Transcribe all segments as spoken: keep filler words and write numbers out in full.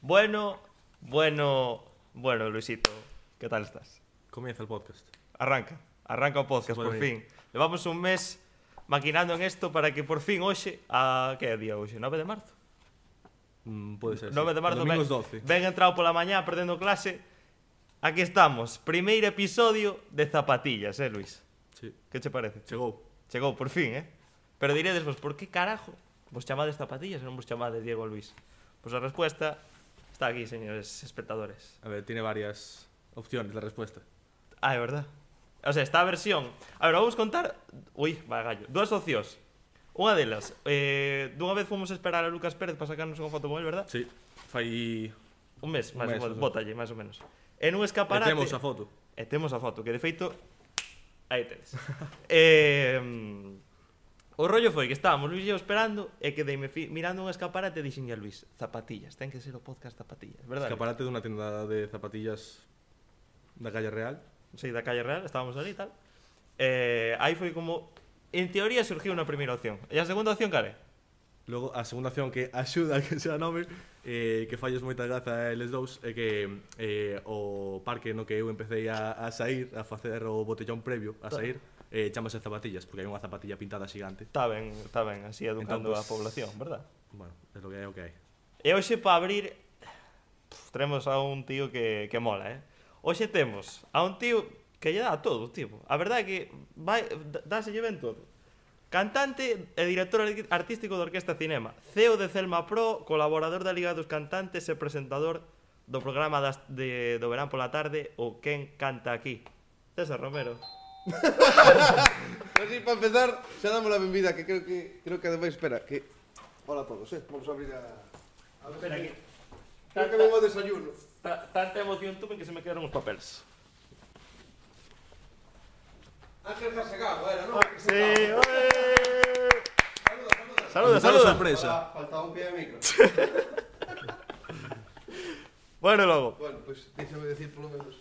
Bueno, bueno, bueno, Luisito, ¿qué tal estás? Comienza el podcast. Arranca, arranca o podcast, por fin. Levamos un mes maquinando en esto para que por fin hoxe, a que é día hoxe? nove de marzo? Mm, pode ser, nove sí. de marzo, Domingos ben, doce. ben entrado pola mañá perdendo clase. Aquí estamos, primeiro episodio de Zapatillas, eh, Luis? Sí. Que che parece? Chegou. Chegou, por fin, eh? Pero diredes vos, por que carajo vos chamades Zapatillas e non vos chamades Diego Luis? Pois a respuesta está aquí, señores espectadores. A ver, tiene varias opciones la respuesta. Ah, é verdad. O sea, esta versión... A ver, vamos contar... Ui, vai gallo. Dúas opcións. Unha delas, eh, dunha vez fomos a esperar a Lucas Pérez para sacarnos unha foto con él, verdad? Sí. Fai... Un mes, máis Un mes, ou menos. eso. Bótalle, máis ou menos. En un E escaparate... temos a foto. E temos a foto, que de feito... Aí tedes. eh, o rollo foi que estábamos Luis e eu esperando e que deime mirando un escaparate e dixen a Luis, Zapatillas, ten que ser o podcast Zapatillas, verdad? Escaparate dunha tenda de zapatillas da calle Real. Sí, da calle Real, estábamos ali e tal. Eh, aí foi como... En teoría surgiu unha primeira opción. E a segunda opción, care? Logo, a segunda opción que axuda a que sea nome, eh, que falles moita graza a eles dous, é que eh, o parque no que eu empecé a, a sair, a facer o botellón previo a sair, eh, chamase Zapatillas, porque hai unha zapatilla pintada xigante. Está ben, está ben, así educando Entón, a pues, población, verdad? Bueno, é lo que hai, o que hai. E hoxe para abrir pff, Tenemos a un tío que, que mola, eh? Hoxe temos a un tío que lle dá a todo, tipo. A verdade é que vai, dáselle ben todo. Cantante e director artístico da Orquesta Cinema, C E O de Celma Pro, colaborador da Liga dos Cantantes e presentador do programa das, de, do verán pola tarde, o Quen Canta Aquí. César Romero. Así, para empezar, xa damos a benvida, que creo que creo que ademais, espera, que... Hola a todos, eh? Vamos a abrir a... a ver Espera si- aquí. Creo que vengo a desayuno. Ta- Tanta emoción tuve que se me quedaron os papeles. Ángel Jasegado, era, non? Sí, oe. Saluda, Saluda, saluda. saluda. Sorpresa. Hola, faltaba un pie de micro. Bueno, logo. Bueno, pois, pues, déxame decir polo menos.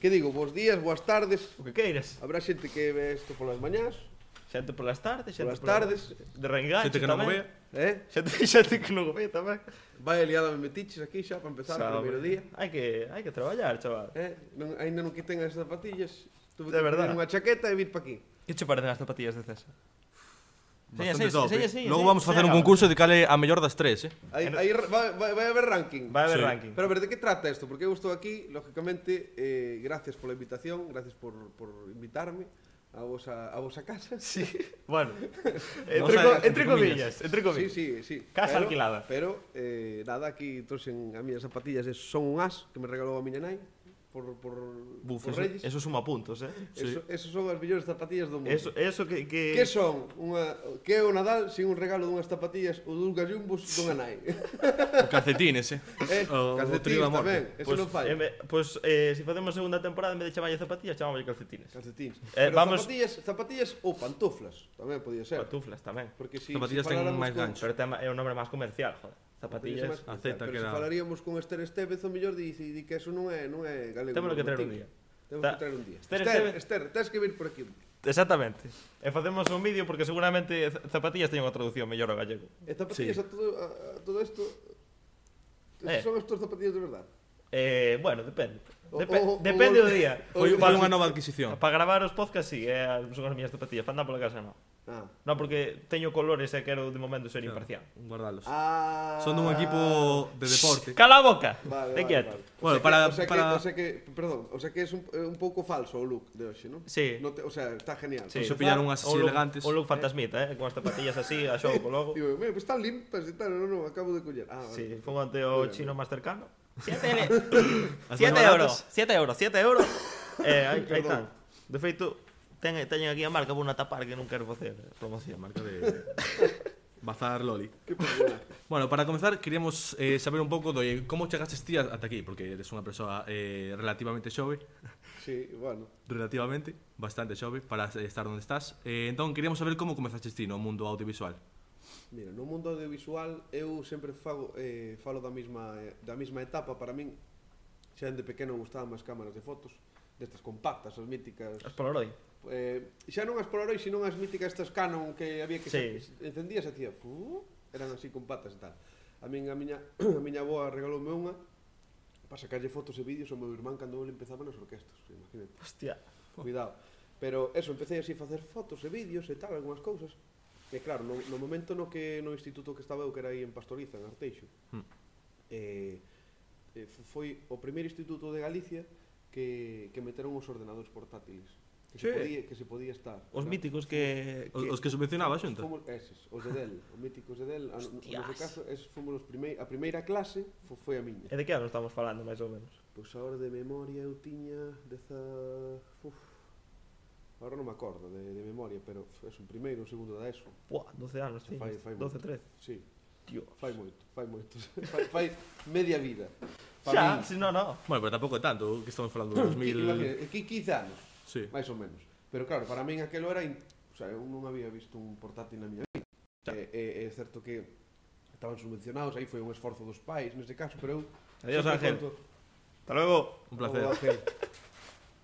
Que digo, bons días, boas tardes. O que queiras. Habrá xente que ve isto polas mañás, Xente polas tardes, xente polas tardes, de reenganche Xente que non o tamén. vea. eh? Xente, xente que non o ve tamén. Vai aliada me metiches aquí xa para empezar o primeiro día. Hai que, hai que traballar, chaval. Eh? Non, ainda non quiten as zapatillas. Tuve De que verdad. poner unha chaqueta e vir para aquí. Que che parecen as zapatillas de César? Bastante Seña, top, seña, eh. seña, Logo seña, vamos a facer seña, un concurso de cale a mellor das tres, eh? Aí, En- aí vai, vai, vai haber ranking. Vai a haber Sí. ranking. Pero a ver, de que trata isto? Porque eu estou aquí, lógicamente, eh, gracias pola invitación, gracias por, por invitarme a vosa, a vosa casa. Sí. Bueno, entre, Vamos a- co- entre entre comillas, entre Sí, comillas. sí, sí. Casa pero, alquilada. Pero, eh, nada, aquí trouxen a miñas zapatillas, e son un as que me regalou a miña nai por, por, Buf, por eso, Reyes. eso suma puntos, eh? Eso, esos son as mellores zapatillas do mundo. Eso, eso que... que... Que son? Unha, que é o Nadal sin un regalo dunhas zapatillas ou dun gallumbos dunha nai? O calcetines, eh? eh, O- o calcetines trío da morte. tamén, eso Pues, non falla. eh, me- pues eh, si facemos segunda temporada, en vez de chamarlle zapatillas, chamámoslle calcetines. Calcetines. Eh, Pero vamos- zapatillas, zapatillas ou pantuflas, tamén podía ser. Pantuflas tamén. Porque si, Zapatillas si ten faláramos máis con- gancho. Pero tema, é un nombre máis comercial, joder. Zapatillas Zapatillas. máis- A Z pero que se era- falaríamos con Esther Estevez, o mellor dice di que eso non é, non é galego. Temos que non traer un tiña. día. Temos Ta- que traer un día. Esther Esther, Estevez- Esther, tens que vir por aquí un día. Exactamente. E facemos un vídeo porque seguramente z- zapatillas teñen unha traducción mellor ao gallego. E zapatillas Sí. a todo, a, a todo isto... Eh. Son as túas zapatillas de verdade? Eh, bueno, depende. O- Depe o- o- depende o- do día. Foi, o- foi unha nova adquisición. Para gravar os podcasts, sí, é, son as miñas zapatillas. Para andar pola casa, non. Ah. Non, porque teño colores e quero de momento ser Claro, imparcial. Guardalos. Ah. Son dun equipo de deporte. Cala a boca! Vale, Te vale, quieto. vale. Bueno, o sea para- que, o sea para- Que, o sea que, perdón, o sea que es un, un pouco falso o look de hoxe, ¿no? Sí. No te, o sea, está genial. Sí. Se pillaron unhas Un así look, elegantes. un look fantasmita, eh? Con as zapatillas así, a xogo co logo. Digo, mira, pues están limpas e tal, no, no, acabo de coller. Ah, vale. Sí, fue ante o chino máis cercano. Siete As siete máis euros, baratas. siete euros, siete euros. Eh, aí, aí Perdón. están. De feito, ten, teñen aquí a marca por unha tapar que non quero facer promoción. Marca de Bazar Loli. Qué personaje. Bueno, para comenzar, queríamos eh, saber un pouco do eh, como chegastes ti ata aquí, porque eres unha persoa eh, relativamente xove, Sí, bueno. relativamente, bastante xove, para eh, estar onde estás. Eh, entón, queríamos saber como comezaste ti no mundo audiovisual. Mira, no mundo audiovisual eu sempre fago, eh, falo da mesma, da mesma etapa. Para min, xa de pequeno gustaban as cámaras de fotos, destas compactas, as míticas. As Polaroid. Eh, xa non as Polaroid, sino as míticas estas Canon que había que Sí. se, encendías e hacía, fu, eran así compactas e tal. A min, a miña, a miña avoa regaloume unha para sacarlle fotos e vídeos ao meu irmán cando ele empezaba nas orquestas, imagínate. Hostia. Cuidado. Pero eso, empecé así a facer fotos e vídeos e tal, algunhas cousas. E claro, no, no momento no que no instituto que estaba eu, que era aí en Pastoriza, en Arteixo, Mm. eh, eh, foi o primeiro instituto de Galicia que, que meteron os ordenadores portátiles. Que, Sí. se podía, que se podía estar. Os Claro. míticos que... Os, os que subvencionaba a xunta. Fomos eses, os de Dell, os míticos de Dell. A- No, no Hostias. caso, eses fomos os primei, a primeira clase fo- foi a miña. E de que ano estamos falando, máis ou menos? Pois agora de memoria eu tiña deza... Uf, agora non me acordo de, de memoria, pero é un primeiro, un segundo da ESO. Buah, doce anos, Se tío. fai- fai doce, moito. trece. Sí, Tío. fai moito, fai moito. fai, fai media vida. Pa Xa, min. si no, no. Bueno, pero tampouco é tanto, que estamos falando de dos mil... Imagina, qui- quince anos, Sí. máis ou menos. Pero claro, para min aquelo era... In... O sea, eu non había visto un portátil na miña vida. É, é, é certo que estaban subvencionados, aí foi un esforzo dos pais, neste caso, pero eu... Adiós, sempre Ángel. conto- Hasta luego. Un placer. O Ángel.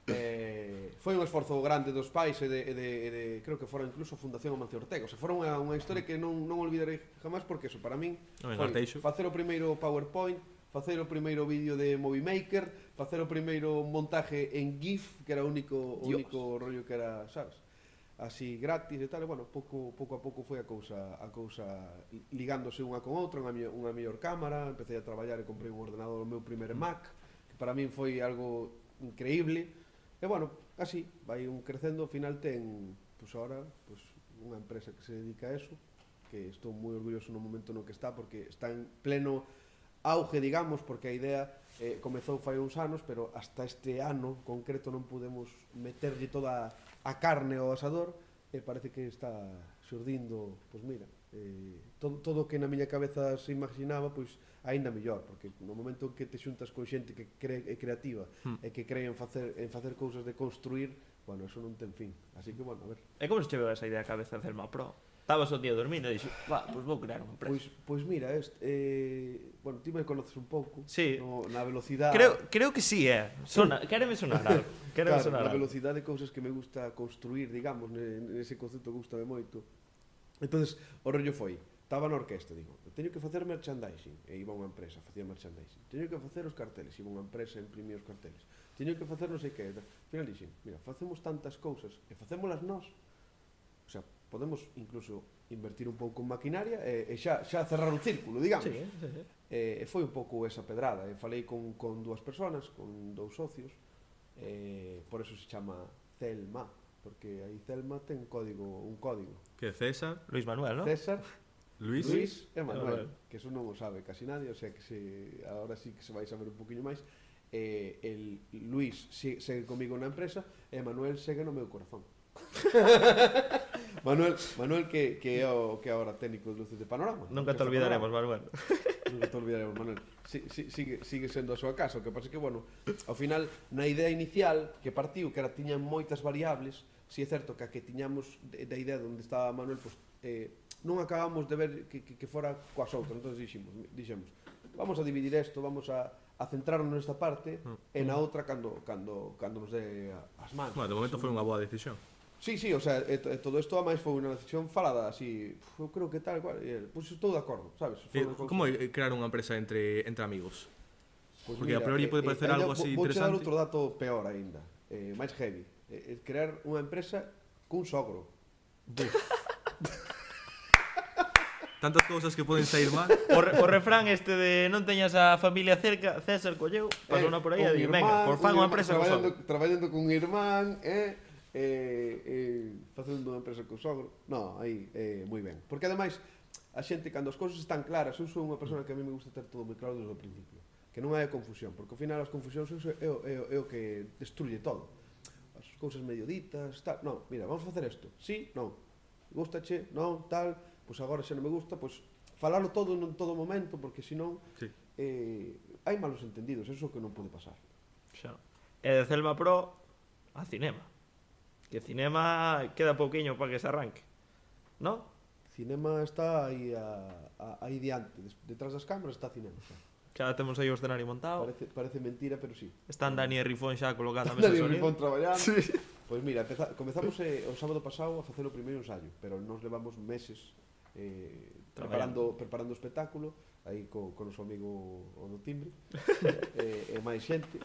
Eh, foi un esforzo grande dos pais e de, e de, e de creo que fora incluso a Fundación Amancio Ortega. O sea, fora unha, unha historia que non, non olvidarei jamás, porque eso, para min, Non, en foi Arteixo. facer o primeiro PowerPoint, facer o primeiro vídeo de Movie Maker, facer o primeiro montaje en GIF, que era o único, o Dios. único rollo que era, sabes? Así gratis e tal, e bueno, pouco, pouco a pouco foi a cousa, a cousa ligándose unha con outra, unha, mellor- unha mellor cámara, empecé a traballar e comprei un ordenador, o meu primeiro Mac, que para min foi algo increíble, e bueno, así, vai un crecendo, ao final ten, pois agora, pois, unha empresa que se dedica a eso, que estou moi orgulloso no momento no que está, porque está en pleno auge, digamos, porque a idea eh, comezou fai uns anos, pero hasta este ano concreto non podemos meterlle toda a carne ao asador, e parece que está xurdindo, pois mira, eh, todo, todo o que na miña cabeza se imaginaba, pois aínda mellor, porque no momento en que te xuntas con xente que cre, é creativa Hmm. e que cree en facer, en facer cousas de construir, bueno, eso non ten fin. Así que, bueno, a ver. E como se che veu esa idea a cabeza de Celma Pro? Estabas un día dormindo e dixo, va, pois vou crear unha empresa. Pois, pois mira, este, eh, bueno, ti me conoces un pouco, Sí. no, na velocidade... Creo, creo que sí, eh. Sona, quéreme sonar algo. Quéreme Claro, sonar na algo. velocidade de cousas que me gusta construir, digamos, ne- nese concepto gustame moito. Entonces, o rollo foi, estaba na orquesta, digo, teño que facer merchandising, e iba unha empresa, facía merchandising. Teño que facer os carteles, iba unha empresa e imprimía os carteles. Teño que facer non sei que, al final dixen, mira, facemos tantas cousas e facémolas nós. O sea, podemos incluso invertir un pouco en maquinaria e, e xa, xa cerrar o círculo, digamos. Sí, sí, sí. E, e foi un pouco esa pedrada. E falei con, con dúas persoas, con dous socios, e por eso se chama Celma, porque aí Celma ten código, un código. Que César, Luis Manuel, ¿no? César, Luis, Luis e Manuel, Manuel. que eso non o sabe casi nadie, o sea que se, ahora sí que se vai saber un poquinho máis. E el Luis si- segue comigo na empresa e Manuel segue no meu corazón. Manuel, Manuel que, que é o que é ahora técnico de luces de panorama. Nunca te Orquesta olvidaremos, Panorama. Manuel. Nunca te olvidaremos, Manuel. Si, si, sigue, sigue sendo a súa casa. O que pasa é que, bueno, ao final, na idea inicial que partiu, que era tiñan moitas variables, si é certo que a que tiñamos de- da idea onde estaba Manuel, pues, eh, non acabamos de ver que, que, que fora coas outras. Entón dixemos, dixemos, vamos a dividir isto, vamos a, a centrarnos nesta parte e na outra cando, cando, cando nos dé as manos. bueno, de momento foi unha boa decisión. Sí, sí, o sea, e, e todo isto a máis foi unha decisión falada así, eu creo que tal cual, e el, pois estou de acordo, sabes? Foi Eh, unha cousa- como é crear unha empresa entre, entre amigos? Pois Porque a priori pode parecer ainda algo así vou- vouche dar interesante. outro dato peor aínda, eh, máis heavy, eh, eh, crear unha empresa cun sogro. Tantas cousas que poden sair mal. O, re, o refrán este de non teñas a familia cerca, César colleu, pasou na por aí e un di, irmán, venga, por fan un unha irmán empresa con traballando, sogro. traballando con un irmán, eh, eh, eh, facendo unha empresa con sogro. No, aí, eh, moi ben. Porque ademais, a xente, cando as cousas están claras, eu sou unha persona que a mí me gusta ter todo moi claro desde o principio. Que non hai confusión, porque ao final as confusións é, o- é, o- é, o- é o que destruye todo. As cousas medio ditas, tal. No, mira, vamos facer isto. Sí, non. Gústache, non, tal. Pois agora xa non me gusta, pois falalo todo en todo momento, porque senón Sí. eh, hai malos entendidos, eso é o que non pode pasar. Xa. E de Celma Pro a cinema. Que cinema queda pouquiño para que se arranque. ¿No? Cinema está aí a, a, aí diante, des- detrás das cámaras está cinema. Xa. Xa temos aí o escenario montado. Parece, parece mentira, pero sí. Están Dani e Rifón xa colocando a mesa de Dani sonido. Rifón traballando. Sí. Pois mira, empeza, comezamos eh, o sábado pasado a facer o primeiro ensayo, pero nos levamos meses eh, preparando, preparando o espectáculo, aí co, con o noso amigo o do timbre, e, e máis xente,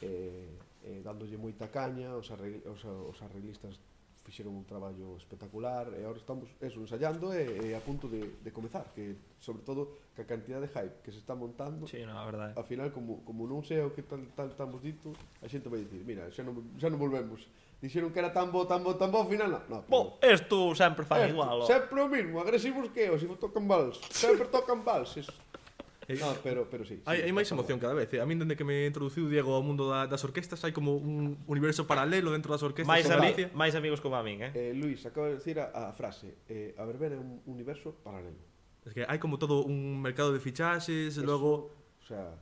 e, e dándolle moita caña, os, arregl, os, os arreglistas fixeron un traballo espectacular e agora estamos eso, ensayando e, e a punto de, de comezar, que sobre todo que a cantidad de hype que se está montando, Sí, no, a verdade. ao final como, como non sei o que tal, tal estamos dito, a xente vai dicir, mira, xa non, xa non volvemos, dixeron que era tan bo, tan bo, tan bo, ao final non, no, Bo, esto sempre fan esto, igual, o. sempre o mismo, agresivos que eu, se tocan vals, sempre tocan valses. Eh, No, pero, pero sí, Hai, sí, hai máis está emoción cada vez. eh. A min, dende que me introduciu Diego ao mundo da, das orquestas, hai como un universo paralelo dentro das orquestas Máis, en ami Galicia. máis amigos como a min, eh? Eh, Luis, acaba de decir a, a frase, eh, a verbena é un universo paralelo. Es que hai como todo un mercado de fichaxes, e Eso, logo... o sea,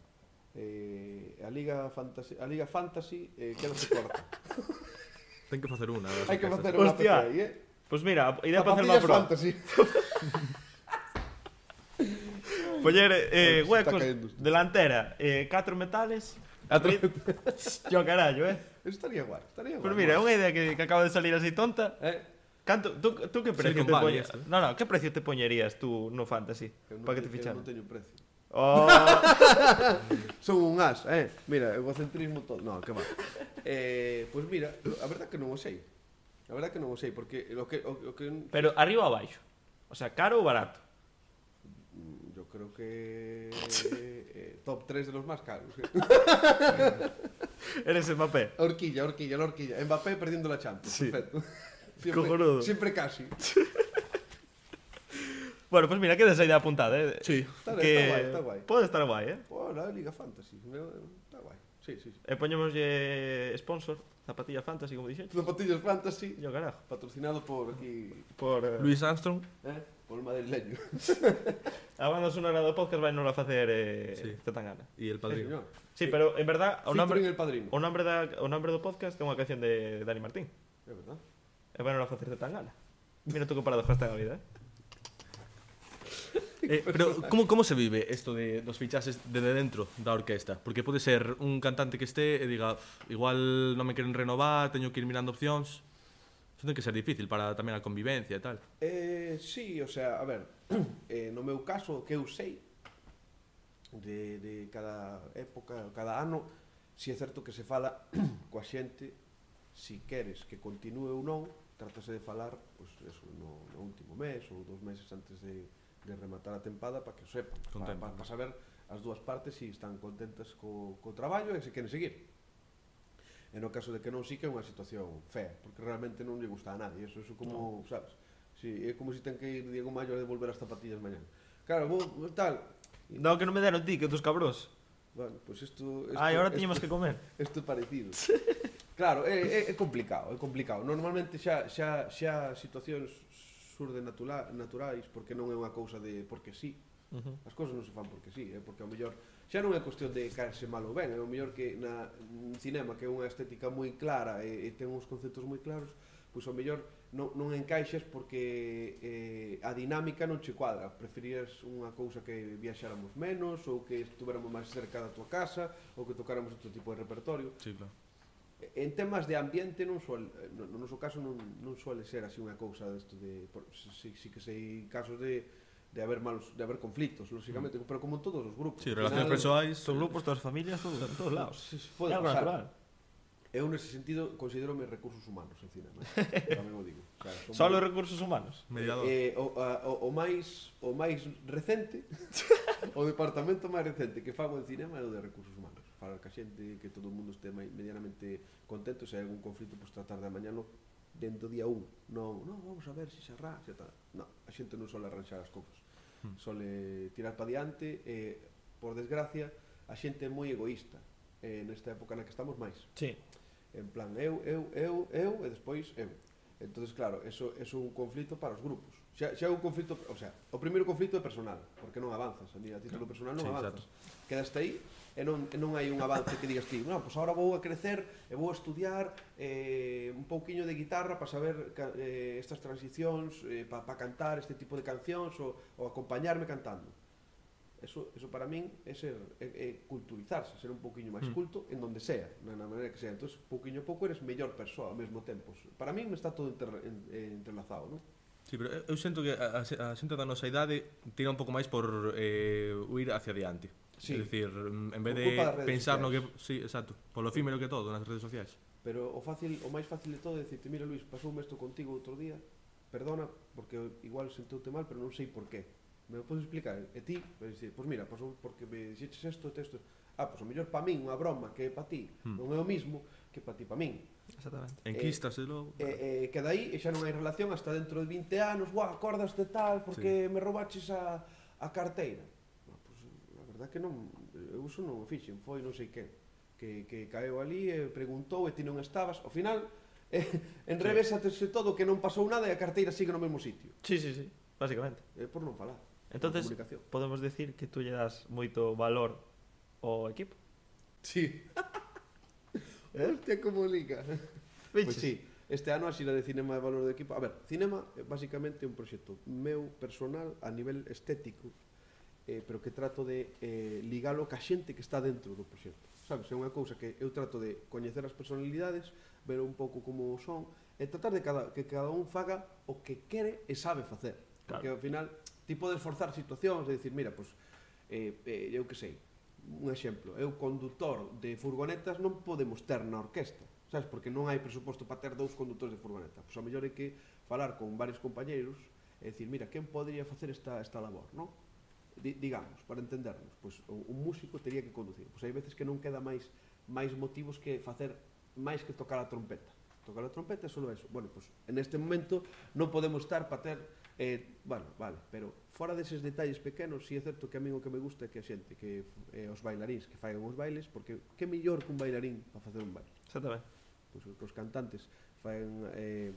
eh, a Liga Fantasy, a Liga Fantasy eh, queda se corta. Ten que facer unha. das Hai que orquestas. facer unha P Hostia. P I, eh? Pois mira, idea para hacer unha Zapatillas pro. Fantasy. Poñer eh, Se está huecos, caendo. delantera, eh, catro metales. Catro Yo carallo, eh? Eso estaría guay, estaría guay. Pois mira, é unha idea que, que acaba de salir así tonta. Eh, Canto, tú, tú que precio Silicon te Valley poñerías? esto, eh. No, no, que precio te poñerías tú no Fantasy? eu non Para que te te- Eu ficharan? non teño precio. Oh, Son un as, eh? Mira, egocentrismo todo. No, que va. Eh, pois mira, a verdad que non o sei. A verdad que non o sei, porque o que, o, o que pero arriba ou abaixo? O sea, caro ou barato? mm, yo creo que eh, top tres de los más caros. eh. Eres Mbappé. Horquilla, horquilla, la horquilla. Mbappé perdiendo la Champions. Sí. Perfecto. Siempre, Cojonudo. siempre casi. Bueno, pues mira, queda esa idea apuntada, eh? Sí. Está, que está guay, está guay. pode estar guai, eh? Oh, la Liga Fantasy. Está guay. Sí, sí, sí. E poñémoslle sponsor, zapatilla Fantasy, como dixen. Zapatillas Fantasy, Yo carajo. patrocinado por aquí, Por eh, Luis Armstrong. eh, por el madrileño. a banda sonora do podcast vai non a facer eh, Sí. Zetangana. E el Sí, padrino. señor. Sí, pero en verdad o Featuring nombre el padrino. o nombre da o nombre do podcast é unha canción de Dani Martín. É verdad. E vai non a facer Zetangana. Mira tú que paradoja está a vida, eh? Eh, pero como, como se vive isto de, dos fichaxes de dentro da orquesta? Porque pode ser un cantante que este e diga, "Uf, igual non me queren renovar, teño que ir mirando opcións". Iso ten que ser difícil para tamén a convivencia e tal. Eh, sí, o sea, a ver, eh, no meu caso, que eu sei de, de cada época, cada ano, si é certo que se fala coa xente, si queres que continue ou non, trátase de falar, pois, eso, no, no último mes ou dos meses antes de, de rematar a tempada para que o sepan, para pa, pa saber as dúas partes si están contentas co, co traballo e se queren seguir. E no caso de que non, sí que é unha situación fea, porque realmente non lle gusta a nadie, eso, eso como, no. sabes, sí, é como se si ten que ir Diego Mayo a devolver as zapatillas mañana. Claro, vos, tal, No, que non me deron ti, que tus cabros. bueno, pues isto... isto Ai, ahora isto- tiñamos que comer. Isto é parecido. Claro, é, é, é complicado, é complicado. Normalmente xa, xa, xa situacións surden natura, naturais, porque non é unha cousa de porque sí. Uh -huh. As cousas non se fan porque sí, é porque ao mellor xa non é cuestión de caerse mal ou ben, é ao mellor que na un cinema que é unha estética moi clara e, e ten uns conceptos moi claros, pois ao mellor non, non encaixas porque eh, a dinámica non che cuadra, preferías unha cousa que viaxáramos menos ou que estuveramos máis cerca da tua casa ou que tocáramos outro tipo de repertorio. Sí, claro. En temas de ambiente non suele, no, no noso caso non, non suele ser así unha cousa desto de, por, si, si que sei casos de de haber malos, de haber conflictos, lógicamente, mm. pero como en todos os grupos. Sí, Al relacións final, persoais. Todos grupos, todas as familias, todo, en todos lados. se- se pode É algo pasar. natural. Eu nese sentido considero-me recursos humanos en cinema, eh? tamén o digo. O sea, son Solo moi- recursos humanos. Mediador. Eh, o, a, o, o máis o máis recente o departamento máis recente que fago en cinema é o de recursos humanos, para que a xente, que todo o mundo este mai- medianamente contento, se hai algún conflito, pois tratar de amañalo dentro do día un. Non, non, vamos a ver se se arranxa e tal. Non, a xente non sole arranxar as cousas, Hmm. sole tirar para diante e, por desgracia, a xente é moi egoísta eh, nesta época na que estamos máis. Sí. En plan, eu, eu, eu, eu e despois eu. Entonces, claro, eso, eso é un conflito para os grupos. Xa, xa é un conflito, o sea, o primeiro conflito é personal, porque non avanzas, a, a título personal non Sí, avanzas. Quedaste aí e non, e non hai un avance que digas ti, non, pois agora vou a crecer e vou a estudiar eh, un pouquiño de guitarra para saber ca, eh, estas transicións, eh, para pa cantar este tipo de cancións ou, ou acompañarme cantando. Eso, eso para min é ser é, é culturizarse, ser un pouquiño máis Mm. culto en donde sea, na, na maneira que sea. Entonces, pouquiño a pouco eres mellor persoa ao mesmo tempo. Para min está todo inter, en, eh, entrelazado, non? Sí, pero eu sinto que a, a, a xente da nosa idade tira un pouco máis por eh, huir hacia adiante. Sí. É dicir, en vez Por de culpa das redes pensar no que... sociais. Sí, exacto. Polo efímero que todo nas redes sociais. Pero o fácil, o máis fácil de todo é dicirte, mira Luís, pasoume isto contigo outro día, perdona, porque igual senteute mal, pero non sei por qué. Me lo podes explicar? E ti, vai dicir, pois mira, pasou porque me dixeches isto, isto. Ah, pois o mellor pa min unha broma que é pa ti, Hmm. non é o mismo que pa ti pa min. Exactamente. Enquistas e logo... E, e que dai, e xa non hai relación hasta dentro de vinte anos, guau, acordas de tal, porque me roubaches a, a carteira. No, pois, a verdad que non, eu uso non o fixen, foi non sei que. Que, que caeu ali e preguntou e ti non estabas. Ao final, eh, enrevésatese todo que non pasou nada e a carteira sigue no mesmo sitio. Sí, sí, sí, básicamente. É por non falar. Entonces, por comunicación. podemos decir que tú lle das moito valor ao equipo. Sí. Hostia, como liga. Pois Viches? sí, este ano a xira de cinema de valor do equipo. A ver, cinema é basicamente un proxecto meu personal a nivel estético, eh, pero que trato de eh, ligalo ca xente que está dentro do proxecto. Sabes, é unha cousa que eu trato de coñecer as personalidades, ver un pouco como son, e tratar de cada, que cada un faga o que quere e sabe facer. Porque Claro. ao final ti podes forzar situacións e dicir, mira, pois, eh, eh, eu que sei, un exemplo, eu condutor de furgonetas non podemos ter na orquesta, sabes, porque non hai presuposto para ter dous condutores de furgoneta. Pois a mellor hai que falar con varios compañeiros e dicir, mira, quen podría facer esta, esta labor, non? Di, digamos, para entendernos, pois un músico teria que conducir. Pois hai veces que non queda máis máis motivos que facer máis que tocar a trompeta. Tocar a trompeta é só eso. Bueno, pois en este momento non podemos estar para ter eh, bueno, vale, pero fora deses detalles pequenos, si é certo que a min o que me gusta é que a xente, que eh, os bailaríns que faigan os bailes, porque que mellor que un bailarín para facer un baile? Exactamente. Pois que os cantantes faigan eh,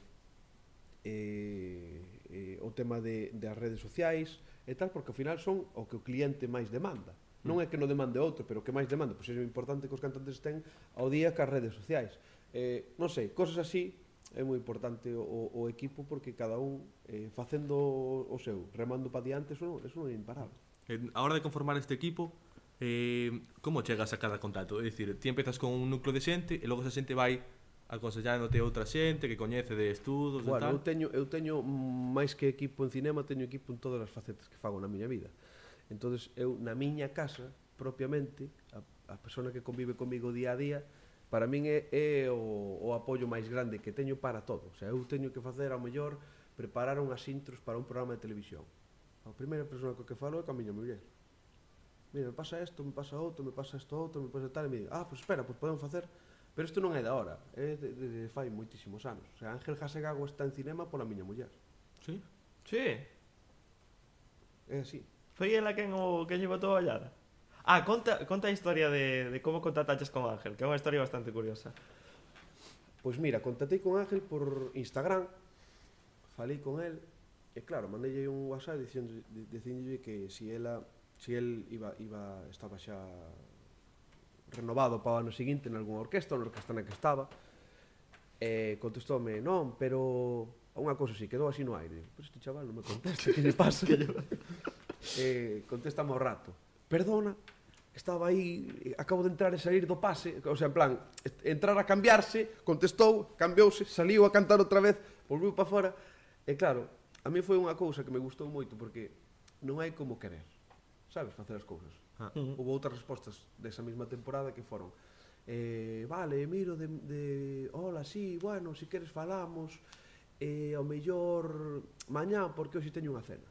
eh, eh, o tema de, das redes sociais e tal, porque ao final son o que o cliente máis demanda. Non é que non demande outro, pero o que máis demanda, pois é importante que os cantantes estén ao día cas redes sociais. Eh, non sei, cosas así é moi importante o, o equipo, porque cada un eh, facendo o, o seu, remando para diante, eso non, eso non é imparable. En, a hora de conformar este equipo, eh, como chegas a cada contacto? É dicir, ti empezas con un núcleo de xente e logo esa xente vai aconsellándote outra xente que coñece de estudos e Bueno, tal. eu teño, eu teño máis que equipo en cinema, teño equipo en todas as facetas que fago na miña vida. Entonces eu na miña casa, propiamente, a, a persona que convive comigo día a día, para min é, é o, o apoio máis grande que teño para todo. O sea, eu teño que facer ao mellor preparar unhas intros para un programa de televisión. A primeira persona co que falo é ca miña muller. Mira, me pasa isto, me pasa outro, me pasa isto outro, me pasa tal, e me digo, ah, pois pues espera, pois pues podemos facer. Pero isto non é da hora, é de, de, de fai moitísimos anos. O sea, Ángel Jasegago está en cinema pola miña muller. Sí? Sí. É así. Foi ela quen o quen lle botou a ollada. Ah, conta, conta a historia de, de como contactaches con Ángel, que é unha historia bastante curiosa. Pois mira, contactei con Ángel por Instagram, falei con el, e claro, mandei un WhatsApp dicíndolle que si ela, si el iba, iba, estaba xa renovado para o ano seguinte en algunha orquesta, na orquesta na que estaba, e contestoume, non, pero unha cousa así, quedou así no aire. Pero este chaval non me contesta, que lle pasa? eh, contestame ao rato, perdona, estaba aí, acabo de entrar e salir do pase, o sea, en plan, entrar a cambiarse, contestou, cambiouse, saliu a cantar outra vez, volveu para fora, e claro, a mí foi unha cousa que me gustou moito, porque non hai como querer, sabes, facer as cousas. Ah. Uh -huh. Houve outras respostas desa mesma temporada que foron, eh, vale, miro de, de, hola, sí, bueno, si queres falamos, e ao mellor mañá, porque hoxe teño unha cena.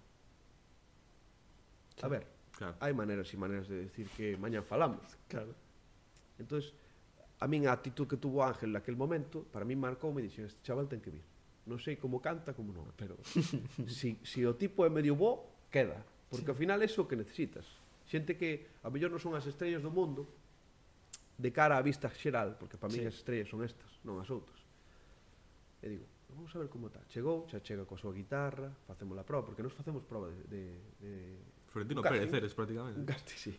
A ver, Claro. hai maneiras e maneiras de decir que mañá falamos. Claro. Entonces, a min a actitud que tuvo Ángel naquel momento, para min marcou, me dixen, este chaval ten que vir. Non sei como canta, como non, pero si, si o tipo é medio bo, queda. Porque ao final é iso que necesitas. Xente que a mellor non son as estrellas do mundo, de cara á vista xeral, porque para min Sí. as estrellas son estas, non as outras. E digo, vamos a ver como está. Chegou, xa chega coa súa guitarra, facemos a prova, porque nos facemos prova de... de, de Florentino un Pérez casting. eres prácticamente. Un casting, sí.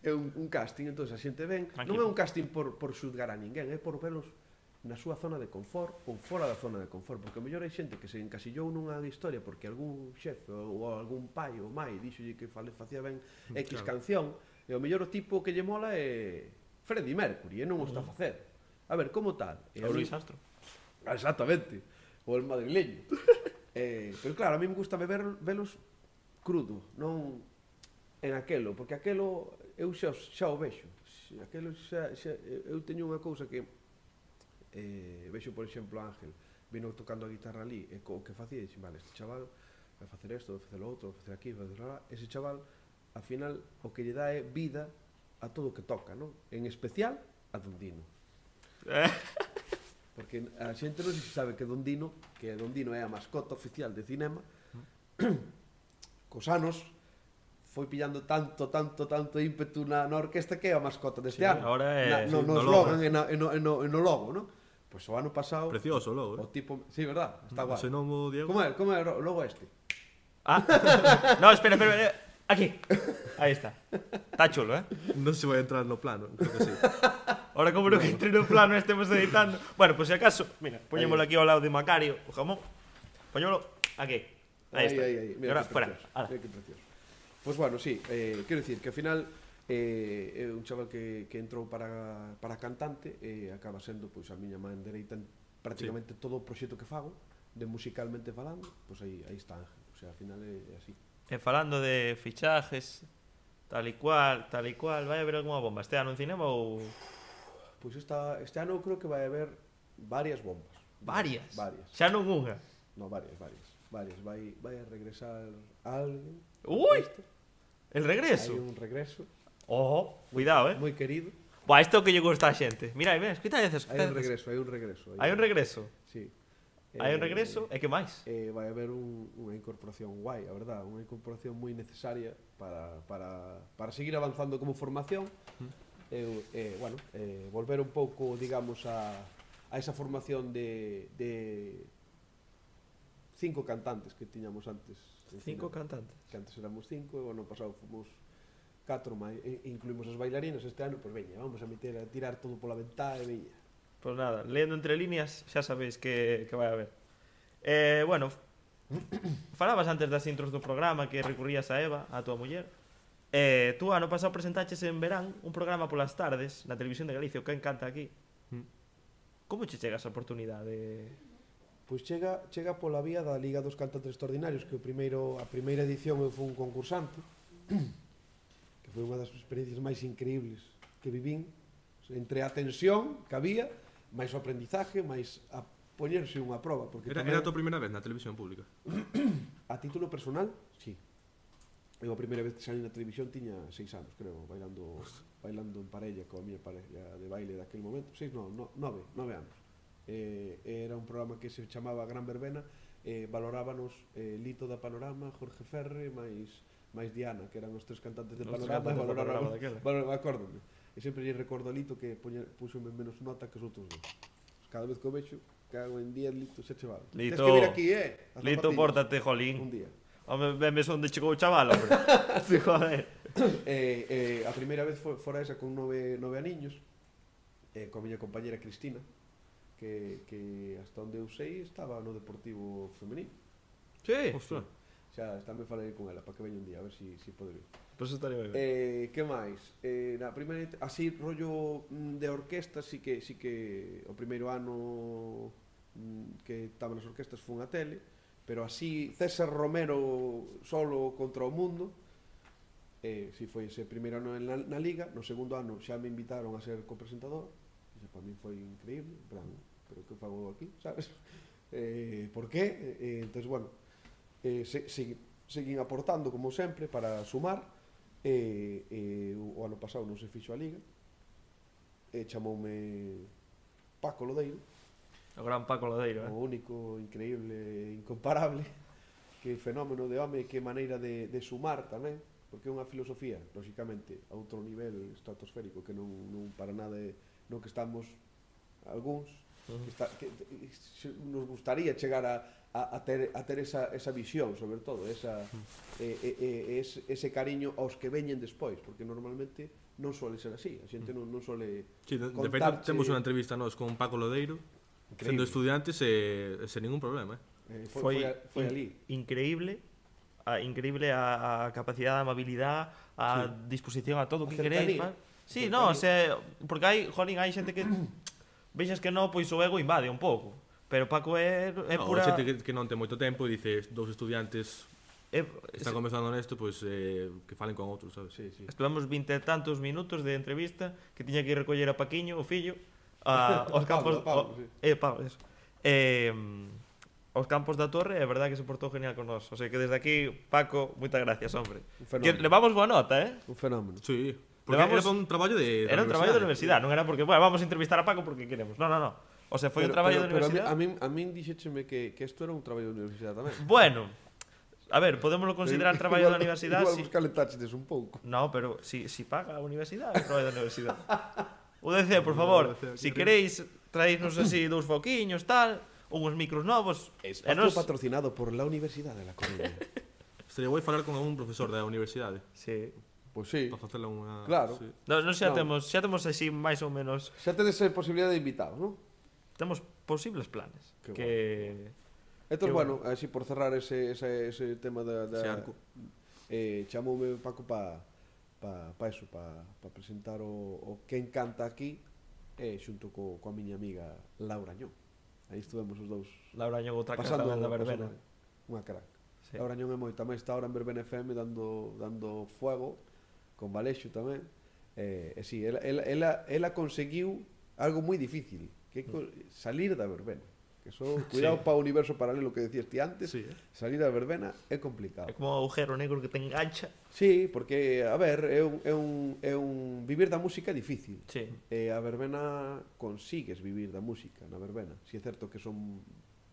É un, un casting, entón a xente ven. Aquí. Non é un casting por, por xudgar a ninguén, é por velos na súa zona de confort ou fora da zona de confort, porque o mellor hai xente que se encasillou nunha historia porque algún xefe ou algún pai ou mai dixolle que fale, facía ben X Claro. canción, e o mellor o tipo que lle mola é Freddie Mercury, e non o está a facer. A ver, como tal? E a O mí- Luis Astro. Exactamente, o el madrileño. Eh, pero claro, a mí me gusta beber velos crudo, non en aquelo, porque aquelo eu xa, xa o vexo. Aquelo xa, xa, eu teño unha cousa que eh, vexo, por exemplo, Ángel vino tocando a guitarra ali e co que facía, dixen, vale, este chaval vai facer isto, vai facer o outro, vai facer aquí, vai facer lá. Ese chaval, ao final, o que lle dá é vida a todo o que toca, non? En especial a Don Dino. Porque a xente non se sabe que Don Dino, que Don Dino é a mascota oficial de cinema, cos anos foi pillando tanto, tanto, tanto ímpetu na, na orquesta que é a mascota deste Sí, ano. ahora é- na, no, sí, no no slogan logo. e, na, e, no, e, no, e no logo, non? Pois o ano pasado Precioso logo, o eh? tipo, sí, verdad, está guai. Se non o Diego... Como é, como é o logo este? Ah, no, espera, espera, espera. Aquí. Ahí está. Está chulo, eh? Non se vai entrar no plano, creo que sí. Ahora como no que entre no plano estemos editando. Bueno, pues si acaso, mira, poñémolo aquí ao lado de Macario, o jamón. Poñémolo aquí. Ahí está. Aí, aí, E mira ahora que fuera. precioso, Ala. mira que precioso. Pois pues bueno, sí, eh, quero dicir que ao final eh, é un chaval que, que entrou para, para cantante e acaba sendo pois, a miña man dereita en prácticamente sí. todo o proxecto que fago, de musicalmente falando, pois aí, aí está Ángel. O sea, ao final é, é así. E falando de fichajes, tal e cual, tal e cual, vai haber alguma bomba este ano en cinema ou... Pois esta, este ano eu creo que vai haber varias bombas. Varias? Varias. Xa non unha. No, varias, varias. Varias. Vai, vai a regresar alguén. Ui! Este. El regreso. Hai un regreso. Ojo, cuidado, eh. Moi querido. Buah, isto é o que lle gusta a xente. Mira, aí, ven, escuta veces. Hai un regreso, hai un regreso. Hai un regreso. Sí. Hai un regreso, e que máis? Eh, vai haber un, unha incorporación guai, a verdad, unha incorporación moi necesaria para, para, para seguir avanzando como formación. Mm. Eh, eh, bueno, eh, volver un pouco, digamos, a, a esa formación de, de cinco cantantes que tiñamos antes. Cinco cantantes. Que antes éramos cinco, e o ano pasado fomos catro, máis, incluímos as bailarinas este ano, pois veña, vamos a meter a tirar todo pola ventá e veña. Pois pues nada, lendo entre líneas, xa sabéis que, que vai haber. Eh, bueno, falabas antes das intros do programa que recurrías a Eva, a tua muller. Eh, tú ano pasado presentaches en verán un programa polas tardes na televisión de Galicia, o que encanta aquí. Como che chega esa oportunidade? Pois chega, chega pola vía da Liga dos Cantantes Extraordinarios, que o primeiro, a primeira edición eu fui un concursante, que foi unha das experiencias máis increíbles que vivín, entre a tensión que había, máis o aprendizaje, máis a poñerse unha proba. Porque Era, tamén, era a tua primeira vez na televisión pública? a título personal, sí. Eu a primeira vez que salí na televisión tiña seis anos, creo, bailando, bailando en parella coa miña parella de baile daquele momento. Seis, non, no, nove, nove anos. Eh, era un programa que se chamaba Gran Verbena, eh, valorábanos eh, Lito da Panorama, Jorge Ferre, máis máis Diana, que eran os tres cantantes de Os Panorama, e cantantes de valorábamos, Panorama daquela. valor, acórdome. E sempre lle recordo a Lito que puxome menos nota que os outros dos. Cada vez que o vexo, cago en día, Lito, xa che vale. Lito, Tens que vir aquí, eh? As Lito, zapatillas. pórtate, jolín. Un día. Home, venmes onde chegou o chaval, hombre. Sí, joder. eh, eh, a primeira vez foi fora esa con nove, nove aniños, eh, coa miña compañera Cristina, que, que hasta onde eu sei estaba no Deportivo Femenino. Sí. Ostras. Xa, tamén falei con ela para que veña un día, a ver se si, si pode vir. Pois pues estaría ben. Eh, que máis? Eh, na primeira, así rollo mm, de orquesta, sí que, sí que o primeiro ano mm, que estaba nas orquestas fun a tele, pero así César Romero solo contra o mundo, eh, si foi ese primeiro ano na, na Liga. No segundo ano xa me invitaron a ser copresentador, e para mí foi increíble, plan, pero que fago aquí, sabes? Eh, por qué? Eh, entonces, bueno, eh, se, se, seguín aportando como sempre para sumar. E, e o ano pasado non se fixo a Liga, e chamoume Paco Lodeiro, O gran Paco Lodeiro, eh? o único, increíble, incomparable, que fenómeno de home, que maneira de, de sumar tamén, porque é unha filosofía, lógicamente, a outro nivel estratosférico, que non, non para nada é no que estamos algúns, uh-huh. que, está, que nos gustaría chegar a A, a ter, a ter esa, esa visión, sobre todo, esa, eh, eh, ese, ese cariño aos que veñen despois, porque normalmente non suele ser así, a xente non, non suele Sí, de, de contarche... feito, temos unha entrevista nós con Paco Lodeiro, Increíble. sendo estudiantes e sen ningún problema, eh? Eh, foi, foi, foi in, ali. Increíble, a, increíble a, a capacidade, a amabilidade, a sí. disposición a todo o que queréis. Sí, no, o sea, porque hai, jolín, hai xente que vexas que non, pois o ego invade un pouco. Pero Paco é, é No, pura... xente que, que non ten moito tempo e dice dous estudiantes É, que están comenzando nesto, pois eh, que falen con outros, sabes? Sí, sí. Estuvemos vinte e tantos minutos de entrevista que tiña que ir recoller a Paquiño, o fillo, a, aos campos... Pablo, Pablo, o, sí. eh, Pablo, eso. Eh, aos campos da Torre, é verdade que se portou genial con nós. O sea que desde aquí, Paco, moitas gracias, hombre. Un Que fenómeno. levamos boa nota, eh? Un fenómeno. Sí, porque Levamos- era para un traballo de, Era un traballo da universidade, non era porque, bueno, vamos a entrevistar a Paco porque queremos. No, no, no. O sea, foi un traballo da pero universidade. a mí, a mí, a mí dixécheme que, que isto era un traballo da universidade tamén. Bueno, a ver, podémoslo considerar Pero traballo da igual- universidade. Igual Si... vos calentachedes un pouco. No, pero si, si paga a universidade, é traballo da universidade. U D C, por favor, si queréis traernos así dous foquiños, tal, uns micros novos, e Espacio nos... patrocinado por la Universidade de La Coruña. Estaría guai falar con un profesor da universidade Sí. Pois sí. para facela unha... Claro. Sí. No, no xa No. temos, xa temos así máis ou menos, Xa tedes a posibilidade de invitados, non? temos posibles planes Que que Entón, Que bueno, así por cerrar ese, ese, ese tema da... da Ese arco. eh, chamoume Paco pa, pa, pa eso, pa, pa presentar o, o que encanta aquí eh, xunto co, coa miña amiga Laura Ñón. Aí estuvemos os dous Laura Ñón outra cara pasando, tamén da verbena. pasando unha crack. Sí. Laura Ñón é moita máis, está ahora en Verbena F M dando, dando fuego con Valexo tamén. Eh, e si, ela, ela, ela, ela conseguiu algo moi difícil, que é co- salir da verbena. Que so, cuidado Sí. para o universo paralelo que decías ti antes, Sí, eh. salir da verbena é complicado. É como un agujero negro que te engancha. Sí, porque, a ver, é un, é un, é un vivir da música é difícil. Sí. E a verbena consigues vivir da música na verbena. Si é certo que son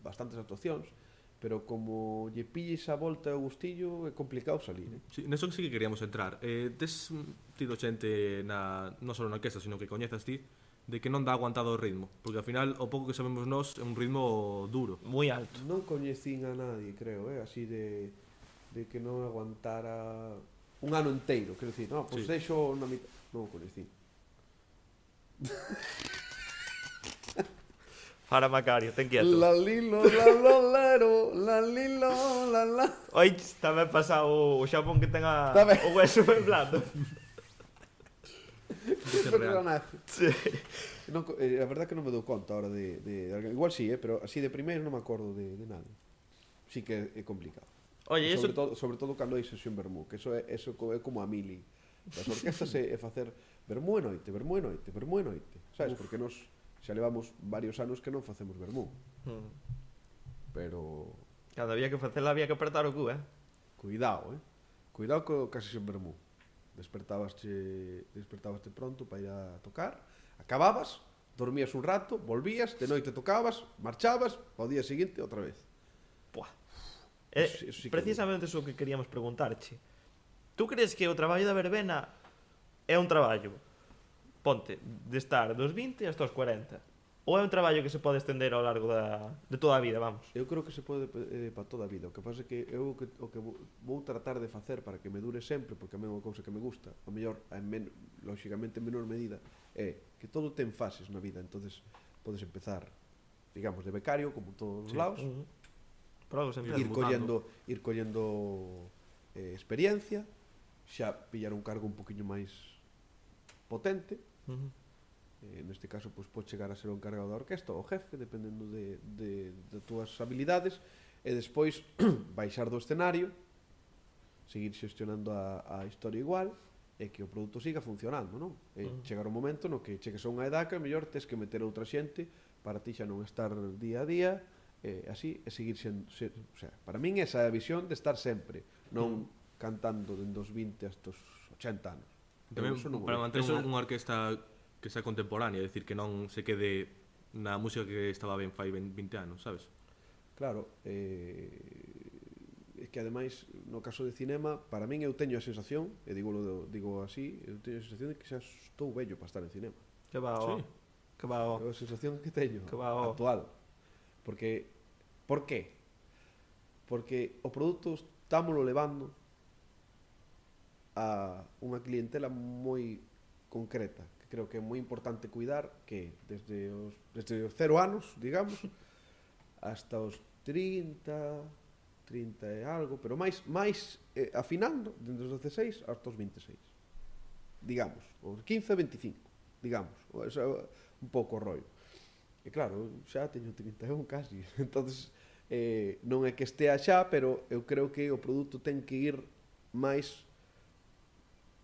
bastantes actuacións, pero como lle pilles a volta e o gustillo é complicado salir, eh? Sí, neso que sí que queríamos entrar. Eh, tes mm, tido xente na, non só na orquesta, sino que coñezas ti, de que non dá aguantado o ritmo, porque ao final o pouco que sabemos nós é un ritmo duro. Moi alto. Non coñecín a nadie, creo, eh? Así de, de que non aguantara un ano inteiro, quero dicir, no, pois Sí. deixo na mitad, non o coñecín. Para Macario, ten quieto. La lilo, la lolero, la lilo, la la. Oi, tamén pasa o, o xapón que ten a, Tamén. o hueso ben blando. Isso é real. Personaje. Sí. Non, co- eh, a verdad que non me dou conta ahora de, de, de alguén. Igual sí, eh, pero así de primeiro non me acordo de, de nada. Sí que é, é complicado. Oye, eso... sobre, todo, sobre todo cando hai sesión vermú, que eso é, eso co- é como a mili. Das orquestas é, é facer vermú e noite, vermú e noite, vermú e noite. Sabes? Porque nos xa levamos varios anos que non facemos vermú. Mm. Pero Cada había que facela, había que apretar o cu, eh? cuidado, eh? Cuidado co, ca sesión vermú. Despertabaste, despertabaste pronto para ir a tocar, acababas, dormías un rato, volvías, de noite tocabas, marchabas, ao día seguinte outra vez. Buah. Eh, Eso- eso sí que precisamente eso que queríamos preguntarche. Tú crees que o traballo da verbena é un traballo, ponte, de estar dos vinte hasta os cuarenta? Ou é un traballo que se pode estender ao largo da, de toda a vida, vamos? Eu creo que se pode eh, para toda a vida. O que pasa é que eu o que, o que vou- vou tratar de facer para que me dure sempre, porque a mí é unha cousa que me gusta, a mellor, en men, lógicamente en menor medida, é que todo ten fases na vida. Entonces podes empezar, digamos, de becario, como en todos os Sí. lados, Uh -huh. Por algo se empieza. ir mutando. collendo, ir collendo eh, experiencia, xa pillar un cargo un poquinho máis potente. Uh -huh. Eh, neste caso, pois, pode chegar a ser o encargado da orquesta ou o jefe, dependendo de, de, de túas habilidades, e despois baixar do escenario, seguir xestionando a, a historia igual, e que o produto siga funcionando, non? E Mm. chegar o momento no que chegues a unha edad que a mellor tes que meter outra xente para ti xa non estar día a día, e así, e seguir sendo, ser, o sea, para min esa é a visión de estar sempre, non cantando dende os vinte hasta os ochenta anos. Eu Tamén eso non o para vexo. manter Eso- unha, unha orquesta que sea contemporánea, é dicir, que non se quede na música que estaba ben fai vinte anos, sabes? Claro, eh, é que ademais no caso de cinema, para min eu teño a sensación, e digo, digo así, eu teño a sensación de que xa estou vello para estar en cinema. Que va o... Sí. Que va o... É a sensación que teño Que va o- actual. Porque por qué? Porque o produto estámoslo levando a unha clientela moi concreta, que creo que é moi importante cuidar, que desde os desde os cero anos, digamos, hasta os trinta, trinta e algo, pero máis máis eh, afinando dende os dezasseis hasta os vinte e seis. Digamos, os quince a veinticinco, digamos, o- ese é un pouco o rollo. E claro, xa teño trinta e un casi. Entonces, eh, non é que estea xa, pero eu creo que o produto ten que ir máis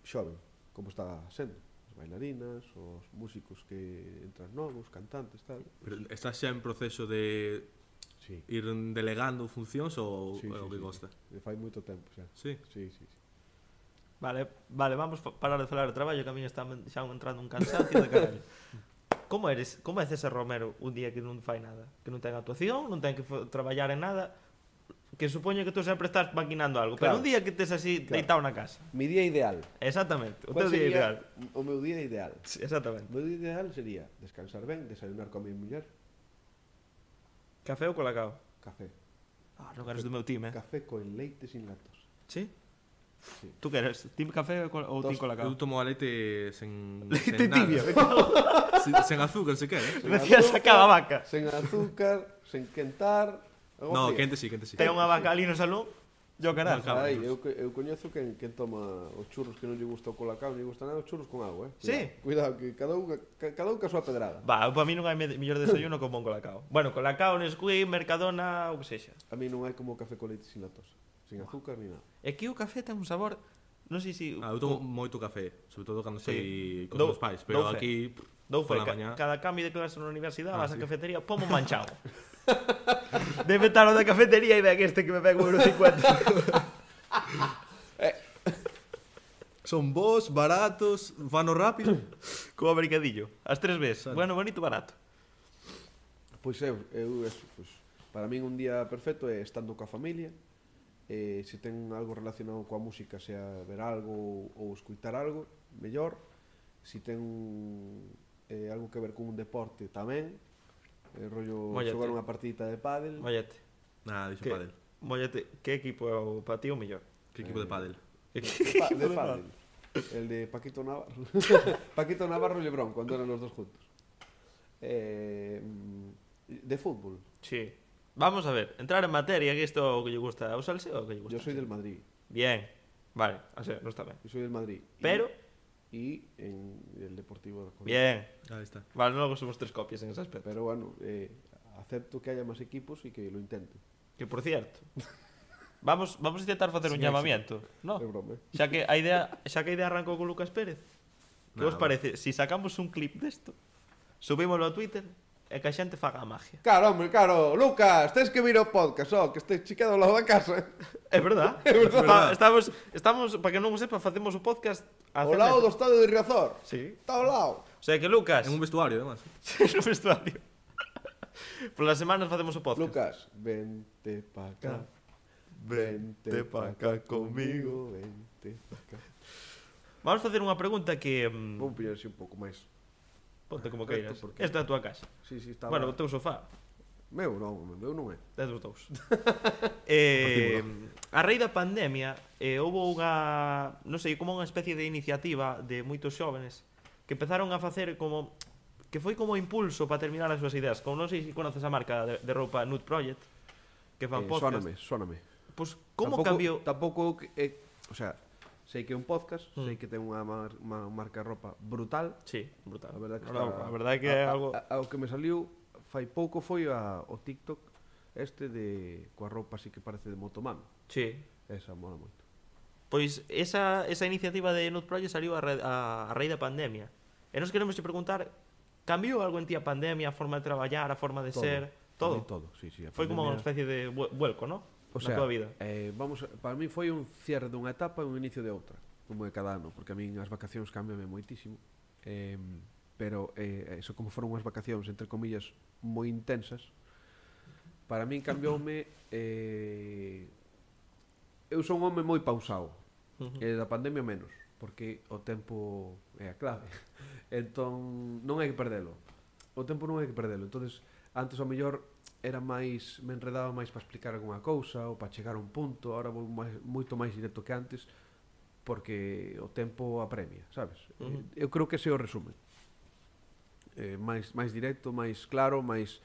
xoven, como está sendo. As bailarinas, os músicos que entran novos, cantantes, tal. Pero estás xa en proceso de Sí. ir delegando funcións ou Sí, é o sí, que sí. gosta? Me fai moito tempo xa. Sí. Sí, sí, sí. Vale, vale, vamos a parar de falar de traballo, que a mí está xa entrando un cansancio de caralho. Como eres, como é César Romero un día que non fai nada? Que non ten actuación, non ten que fo- traballar en nada, que supoño que tú sempre estás maquinando algo, Claro. pero un día que tes así Claro. deitado na casa. Mi día ideal. Exactamente, o Cual teu día sería ideal. O meu día ideal. Sí, exactamente. O meu día ideal sería descansar ben, desayunar con a mi muller, Café ou colacao? café. Ah, non eres do meu team, eh? Café con leite sin lactosa. Sí? Sí. Tú que eres? Team café ou col- ou team Dos- colacao? Eu tomo a leite sen, Leite sen nada. tibio. Sen, sen azúcar, se quere. Sen Decía azúcar, sacaba vaca. Sen azúcar, sen quentar. algo No, frío. quente sí, quente sí. Ten unha vaca ali no salón, yo caralho. Vaca. Ai, eu, co- eu coñezo quen, quen toma os churros que non lle gusta o colacao, non lle gusta nada, os churros con agua, eh. Sí. Cuidado, cuidado que cada un, ca- cada un ca súa pedrada. Va, para mí non hai me- mellor desayuno como un colacao. Bueno, colacao, Nesquik, Mercadona, ou que sexa. A mí non hai como café con leite sin lactosa, sin azúcar ni nada. É que o café ten un sabor, non sei se... Ah, eu tomo moito café, sobre todo cando Sí. sei cos Dou- meus pais, pero dou fe. aquí Dou fe, pola ca, mañá. cada cambio de clase na universidade, Ah, vas á sí. cafetería, pomo manchado. Debe estar o da cafetería e ven este que me pega un euro cincuenta. Son bons, baratos, vano rápido. Como abricadillo. As tres veces. Sale. Bueno, bonito, barato. Pois eu, eu eso, pois, para min un día perfecto é estando coa familia, eh, se ten algo relacionado coa música, sea ver algo ou, ou escutar algo, mellor. Se ten eh, algo que ver con un deporte tamén, eh, rollo Mollete. xogar unha partidita de pádel. Mollete. Nada, dixo Que- pádel. Mollete, que equipo é o para ti o mellor? Que equipo de pádel? Pa, de pádel. El de Paquito Navarro. Paquito Navarro e Lebrón, cuando eran los dos juntos. Eh, de fútbol. Sí. Vamos a ver, entrar en materia, que isto é o que lle gusta ao salseo o que lle gusta. Yo soy del Madrid. Bien. Vale, o sea, non está ben. Yo soy del Madrid. Y- Pero, Y en el Deportivo de Coruña. bien. Ahí está. Vale, logo somos tres copias en ese aspecto. Pero bueno, eh, acepto que haya más equipos y que lo intente. Que por cierto, vamos vamos a intentar facer un Sin llamamiento, no? É broma. eh. Xa que a idea, xa que a idea arrancou con Lucas Pérez. Que Nada. vos parece si sacamos un clip desto, subímoslo a Twitter e que a xente faga a magia? Claro, hombre, claro. Lucas, tens que vir ao podcast, oh, que este chiqueado ao lado da casa. É verdad. É verdad. Está- Estamos, estamos, para que non o sepa, facemos o podcast a Ao lado do estadio de Riazor. Sí. Está ao lado. O sea que Lucas, En un vestuario, además. no vestuario. Por las semanas facemos o podcast. Lucas, vente pa acá. Vente pa acá conmigo. Vente pa acá. Vamos facer unha pregunta que mm, Vou pillar así un pouco máis. ponte como Esto queiras. porque- Esta é a tua casa. Sí, sí, está Bueno, o bueno, teu sofá. meu non, meu non é. É dos dous. eh, a raíz da pandemia eh, houve unha, non sei, como unha especie de iniciativa de moitos xóvenes que empezaron a facer como que foi como impulso para terminar as súas ideas. Como non sei se conoces a marca de, de roupa Nude Project, que fan Eh, podcast. Sóname, sóname. Pois como tampouco, cambiou? Tampouco, eh, o sea, sei que é un podcast, Mm. sei que ten unha, mar, unha marca de ropa brutal. Sí, brutal. A verdade que No, está, a verdade que é a, algo a, a, o que me saliu fai pouco foi a, o TikTok este de coa roupa así que parece de motomami. Sí. Esa mola moito. Pois esa, esa iniciativa de Nude Project saliu a, ra- a, a raíz da pandemia. E nos queremos te preguntar, cambiou algo en ti a pandemia, a forma de traballar, a forma de Todo. ser, todo? Para mí todo, sí, sí. a Foi como unha pandemia- especie de vuel- vuelco, ¿no? O Na sea, tua vida. eh, vamos, a- para mí foi un cierre dunha etapa e un inicio de outra, como é cada ano, porque a min as vacacións cambiame moitísimo. Eh, pero eh, eso como foron unhas vacacións entre comillas moi intensas, para min cambioume eh, eu son un home moi pausado. Ujú. E da pandemia menos, porque o tempo é a clave. Entón, non hai que perdelo. O tempo non hai que perdelo. Entonces, antes ao mellor era máis, me enredaba máis para explicar algunha cousa ou para chegar a un punto, ahora vou máis, moito máis directo que antes, porque o tempo apremia, sabes? Ujú. Eh, Eu creo que ese é o resumen. Eh, máis máis directo, máis claro, máis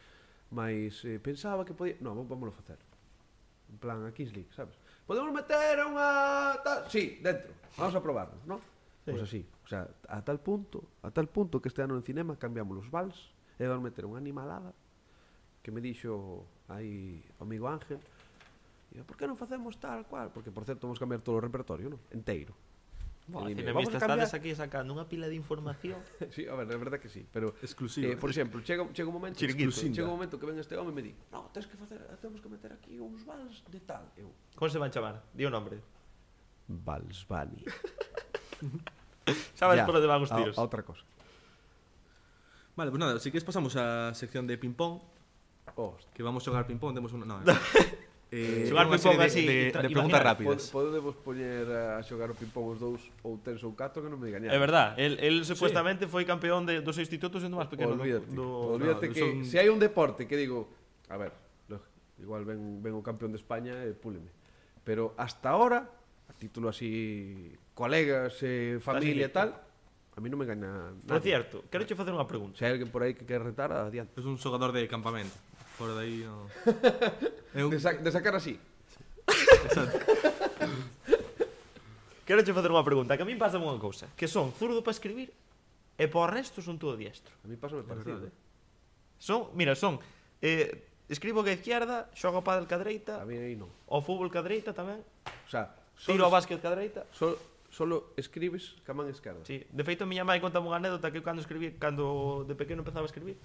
máis eh, pensaba que podía, no, vámoslo facer. En plan a Kings League, sabes? Podemos meter unha tal, sí, dentro. Vamos a probarnos, ¿no? Sí. Pois pues así, o sea, a tal punto, a tal punto que este ano en cinema cambiamos os vals e van meter unha animalada que me dixo aí o amigo Ángel, e por que non facemos tal cual? Porque, por certo, vamos cambiar todo o repertorio, non? Enteiro. Buah, E dime, cinemista, "Vamos a cambiar?" estades aquí sacando unha pila de información. Sí, a ver, é verdade que sí, pero Exclusiva. eh, por exemplo, chega, chega un momento Chiringuito. chega un momento que ven este home e me di, "No, tens que facer, temos que meter aquí uns vals de tal." Eu, Como se van chamar? Di o nombre. Vals Bani. Sabes Ya, por onde van os a- tiros. A outra cosa. Vale, pues nada, si queres pasamos á sección de ping-pong, Hostia. que vamos a xogar ping-pong, temos unha... No, eh, Xogar unha ping-pong serie así, de, de, tra- de preguntas imaginar, rápidas. Podemos poñer a xogar o ping-pong os dous ou tres ou catro que non me digan É verdad, el, el supuestamente foi campeón de, dos institutos sendo máis pequeno Olvídate, do, do... olvídate no, que son- se hai un deporte que digo, a ver, lo- igual ven, ven o campeón de España e púleme. Pero hasta ahora, a título así, colegas, eh, familia e tal, a mí non me gana Por nadie. cierto, quero che facer unha pregunta. Se hai alguén por aí que quer retar, adiante. Es un xogador de campamento. Fora de aí, no... É un... De, sa de sacar así. Quero che facer unha pregunta, que a min pasa unha cousa, que son zurdo para escribir e por resto son todo diestro. A mí pasa me parecido. verdade. Son, mira, son eh, escribo que a izquierda, xogo a pádel ca dereita, A mí aí non. o fútbol ca dereita tamén, O sea, tiro ao solo, básquet ca dereita. solo, solo escribes ca man esquerda. Sí, de feito, miña mãe contame unha anécdota que eu cando escribí, cando de pequeno empezaba a escribir,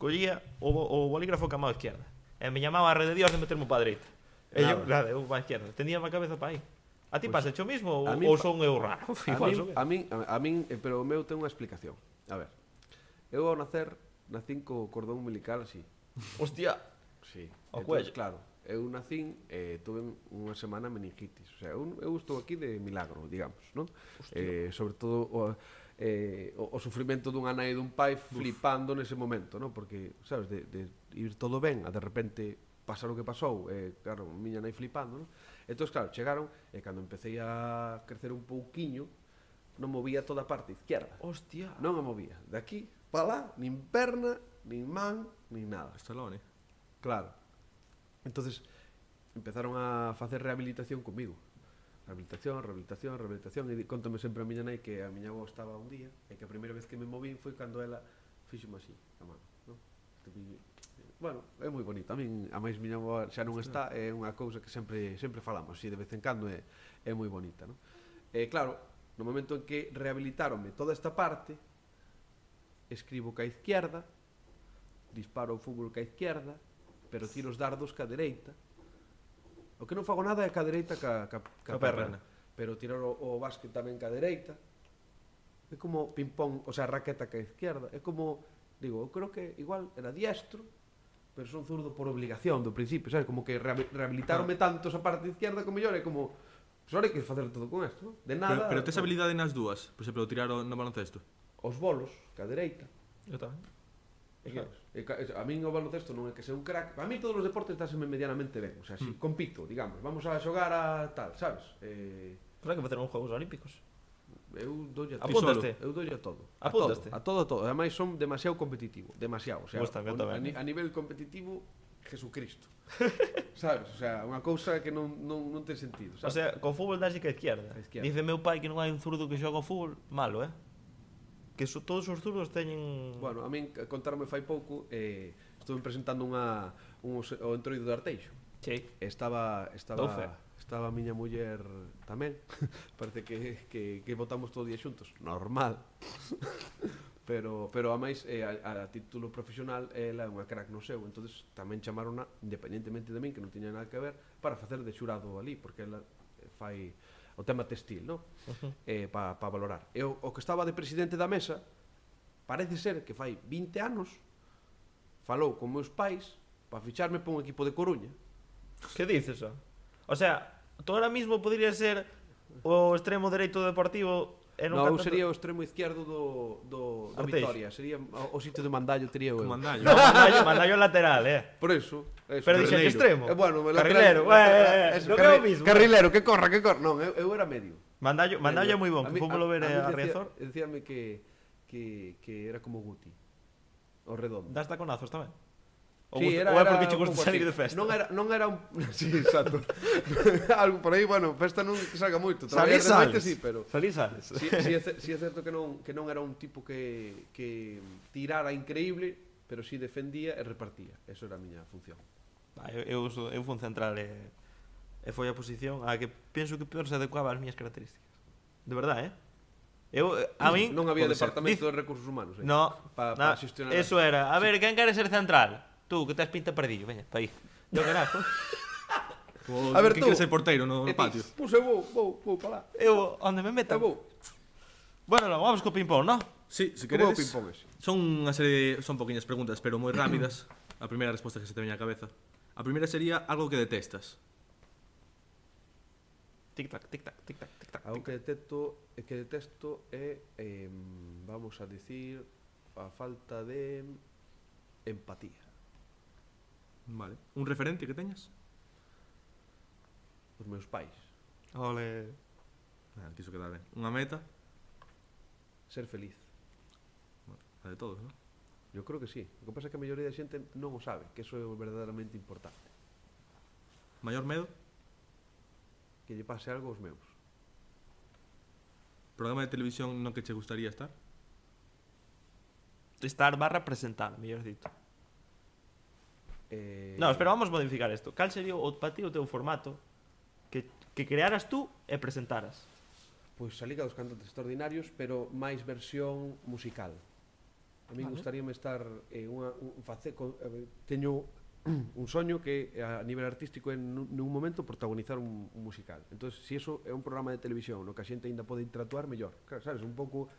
collía o, bo- o bolígrafo ca mão izquierda. E me chamaba a rede de Dios de metermo pa dereita. E eu, nada, eu pa izquierda. Tenía a cabeza pa aí. A ti pasa o mismo ou, a mí ou pa- son eu raro? A Igual min, son eu. a min, a, a min, eh, pero o meu ten unha explicación. A ver, eu ao nacer nacín co cordón umbilical así. Hostia, Sí. Ao Entonces, cuello. claro, eu nacín e eh, tuve unha semana meningitis. O sea, eu, eu estou aquí de milagro, digamos, non? Eh, sobre todo o, eh, o, o sufrimento dunha nai e dun pai flipando nese momento, non? Porque, sabes, de, de ir todo ben, a de repente pasar o que pasou, e, claro, miña nai flipando, non? Entón, claro, chegaron, e cando empecé a crecer un pouquiño, non movía toda a parte izquierda. hostia. Non a movía. De aquí para lá, nin perna, nin man, nin nada. Stallone. Claro. Entonces empezaron a facer rehabilitación comigo. Rehabilitación, rehabilitación, rehabilitación. E di- contame sempre a miña nai que a miña avó estaba un día e que a primeira vez que me movín foi cando ela fíxome así, a mano, non? Te- Bueno, é moi bonito. A min, a máis miña avó xa non está, é unha cousa que sempre sempre falamos, así de vez en cando é, é moi bonita, non? E claro, no momento en que rehabilitaronme toda esta parte, escribo ca izquierda, disparo o fútbol ca izquierda, pero tiro os dardos ca dereita. O que non fago nada é ca dereita ca, ca, ca Ca perna. perna. Pero tirar o, o básquet tamén ca dereita. É como ping-pong, o sea, raqueta ca izquierda. É como, digo, eu creo que igual era diestro, pero son zurdo por obligación do principio, sabes? Como que rehabi- rehabilitaronme tanto esa parte izquierda como mellor, é como, pues ahora hai que facer todo con isto, non? De Pero, nada. pero tes todo. habilidade nas dúas. Por exemplo, tirar o- no baloncesto. Os bolos, ca dereita. Eu tamén. É que, é ca- é- a min o baloncesto non é que sea un crack. A mí todos os deportes dáseme medianamente ben. O sea, si Mm. compito, digamos, vamos a xogar a tal, sabes? Eh, Pues hai que facer uns Juegos Olímpicos. eu doulle a todo. Apúntaste. Eu doulle a todo. A Apúntaste. todo, a todo, a todo. Ademais son demasiado competitivo, demasiado, o sea, Gusta, eu o- tamén. a, ni- a nivel competitivo Jesucristo. Sabes? O sea, unha cousa que non, non, non ten sentido, O sabes? sea, con fútbol dase que a izquierda. A izquierda. Dice meu pai que non hai un zurdo que xoga ao fútbol, malo, eh? Que so, todos os zurdos teñen... Bueno, a min c- contarme fai pouco, eh, estuve presentando unha un, os- o entroido de Arteixo. Sí. Estaba Dou fe. estaba estaba a miña muller tamén. Parece que, que, que votamos todo o día xuntos. Normal. pero pero a máis eh, a, a título profesional ela é unha crack no seu, entonces tamén chamarona independentemente de min que non tiña nada que ver para facer de xurado ali, porque ela eh, fai o tema textil, non? Uh-huh. Eh, para pa valorar. E o, o que estaba de presidente da mesa parece ser que fai vinte anos falou con meus pais para ficharme para un equipo de Coruña. Que dices, o? O sea, tú ahora mismo podría ser o extremo dereito do Deportivo e non No, eu canta- sería o extremo izquierdo do, do, do Arteixo. Vitoria. Sería o, o sitio de Mandallo tería eu. Con mandallo. No, mandallo, mandallo lateral, eh. Por eso. eso. Pero dixe que Carrilero. extremo. Eh, bueno, me Carrilero, lateral- eh, lateral- eh, eso, no que é o carri- mismo. Carrilero, que corra, que corra. Non, eu, eu era medio. Mandallo, mandallo é moi bon, A que mí- fomos lo ver a- a a, mí a decía- Riazor. Decíame que, que, que era como Guti. O redondo. Das taconazos tamén. Ou, Sí, gusta- era, ou é era porque che un gusta pouco salir así. de festa. Non era, non era un... Sí, exacto. Algo por aí, bueno, festa non que salga moito. Salir Traballar de noite sales. sí, pero... Salir sales. Sí, sí, é, ce- sí é certo que non, que non era un tipo que, que tirara increíble, pero si defendía e repartía. Eso era a miña función. Ah, eu, eu, uso, eu fui un central e, e foi a posición a que penso que peor se adecuaba ás miñas características. De verdade, eh? Eu, a min... Non había pode ser. departamento de recursos humanos, eh? No, Pa, na, pa xestionar. eso era. A ver, quen quere ser central? Tú, que tes pinta perdillo, veña, pa aí. Yo carajo. O, A ver, que tú. queres ser porteiro no, no E ti, patio? Pois eu vou, vou, vou para lá. Eu, onde me Eu meta. vou. Bueno, logo, vamos co ping-pong, ¿no? Sí, se Como é o queredes. ping-pong ese? Son unha serie de, son poquinhas preguntas, pero moi rápidas. A primeira resposta que se te veña á cabeza. A primeira sería algo que detestas. Tic-tac, tic-tac, tic-tac, tic-tac. Algo que detesto, que detesto é, eh, vamos a dicir, a falta de empatía. Vale. Un referente que teñas? Os meus pais. Ole. Ah, quiso quedar ben. Unha meta? Ser feliz. A de todos, non? Eu creo que sí. O que pasa é que a maioría da xente non o sabe, que eso é o verdadeiramente importante. Maior medo? Que lle pase algo aos meus. Programa de televisión no que che gustaría estar? Estar barra presentar, mellor dito. Eh, No, espera, vamos modificar isto. Cal sería o para ti o teu formato que, que crearas tú e presentaras? Pois a Liga dos Cantantes Extraordinarios, pero máis versión musical. A mí Vale. gustaríame estar en unha un face con, a ver, teño un soño que a nivel artístico é nun, nun momento protagonizar un, un musical. Entonces, se si eso é un programa de televisión no que a xente ainda pode interactuar mellor. Claro, sabes, un pouco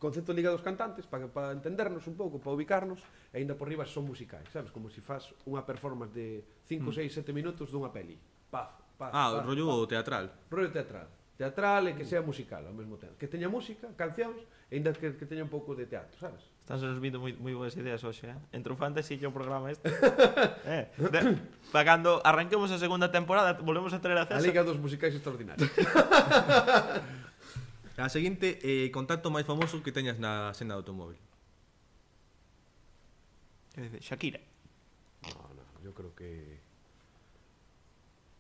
concepto de Liga dos Cantantes para para entendernos un pouco, para ubicarnos, e ainda por riba son musicais, sabes, como se si faz unha performance de cinco, seis, sete minutos dunha peli. Paz, paz. Ah, paz, o rollo paz. teatral. Rollo teatral. Teatral e que sea musical ao mesmo tempo. Que teña música, cancións, e ainda que, que teña un pouco de teatro, sabes? Están se nos vindo moi, moi boas ideas hoxe, eh? Entre o fantasy e o programa este. eh, de, para cando arranquemos a segunda temporada, volvemos a traer a A César. Liga dos Musicais Extraordinarios. A seguinte, eh, contacto máis famoso que teñas na senda do automóvil. Que dice, Shakira. No, no, yo creo que...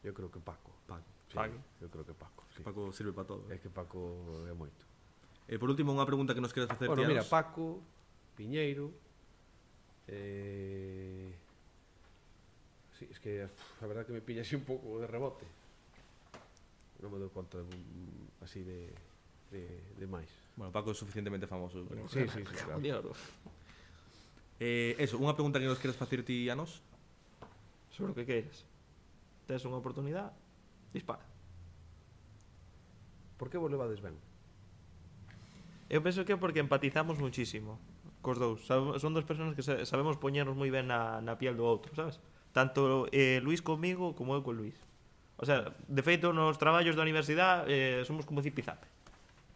Yo creo que Paco. Paco. Sí, Paco. yo creo que Paco, sí. Paco sirve para todo. É que Paco é moito. E por último, unha pregunta que nos queres facer Bueno, ti a mira, nós. Paco, Piñeiro... Eh... Sí, es que uf, a verdad que me pilla así un pouco de rebote. Non me dou conta de, un- así de, de, de máis. Bueno, Paco é suficientemente famoso. Pero... Sí, sí, sí, claro. Diablo. Eh, eso, unha pregunta que nos queres facer ti a nós. Sobre o que queiras. Tes unha oportunidade, dispara. Por que vos levades ben? Eu penso que é porque empatizamos muchísimo cos dous. Sab- Son dos personas que sa- sabemos poñernos moi ben na, na piel do outro, sabes? Tanto eh, Luís comigo como eu con Luís. O sea, de feito, nos traballos da universidade eh, somos como zipizape.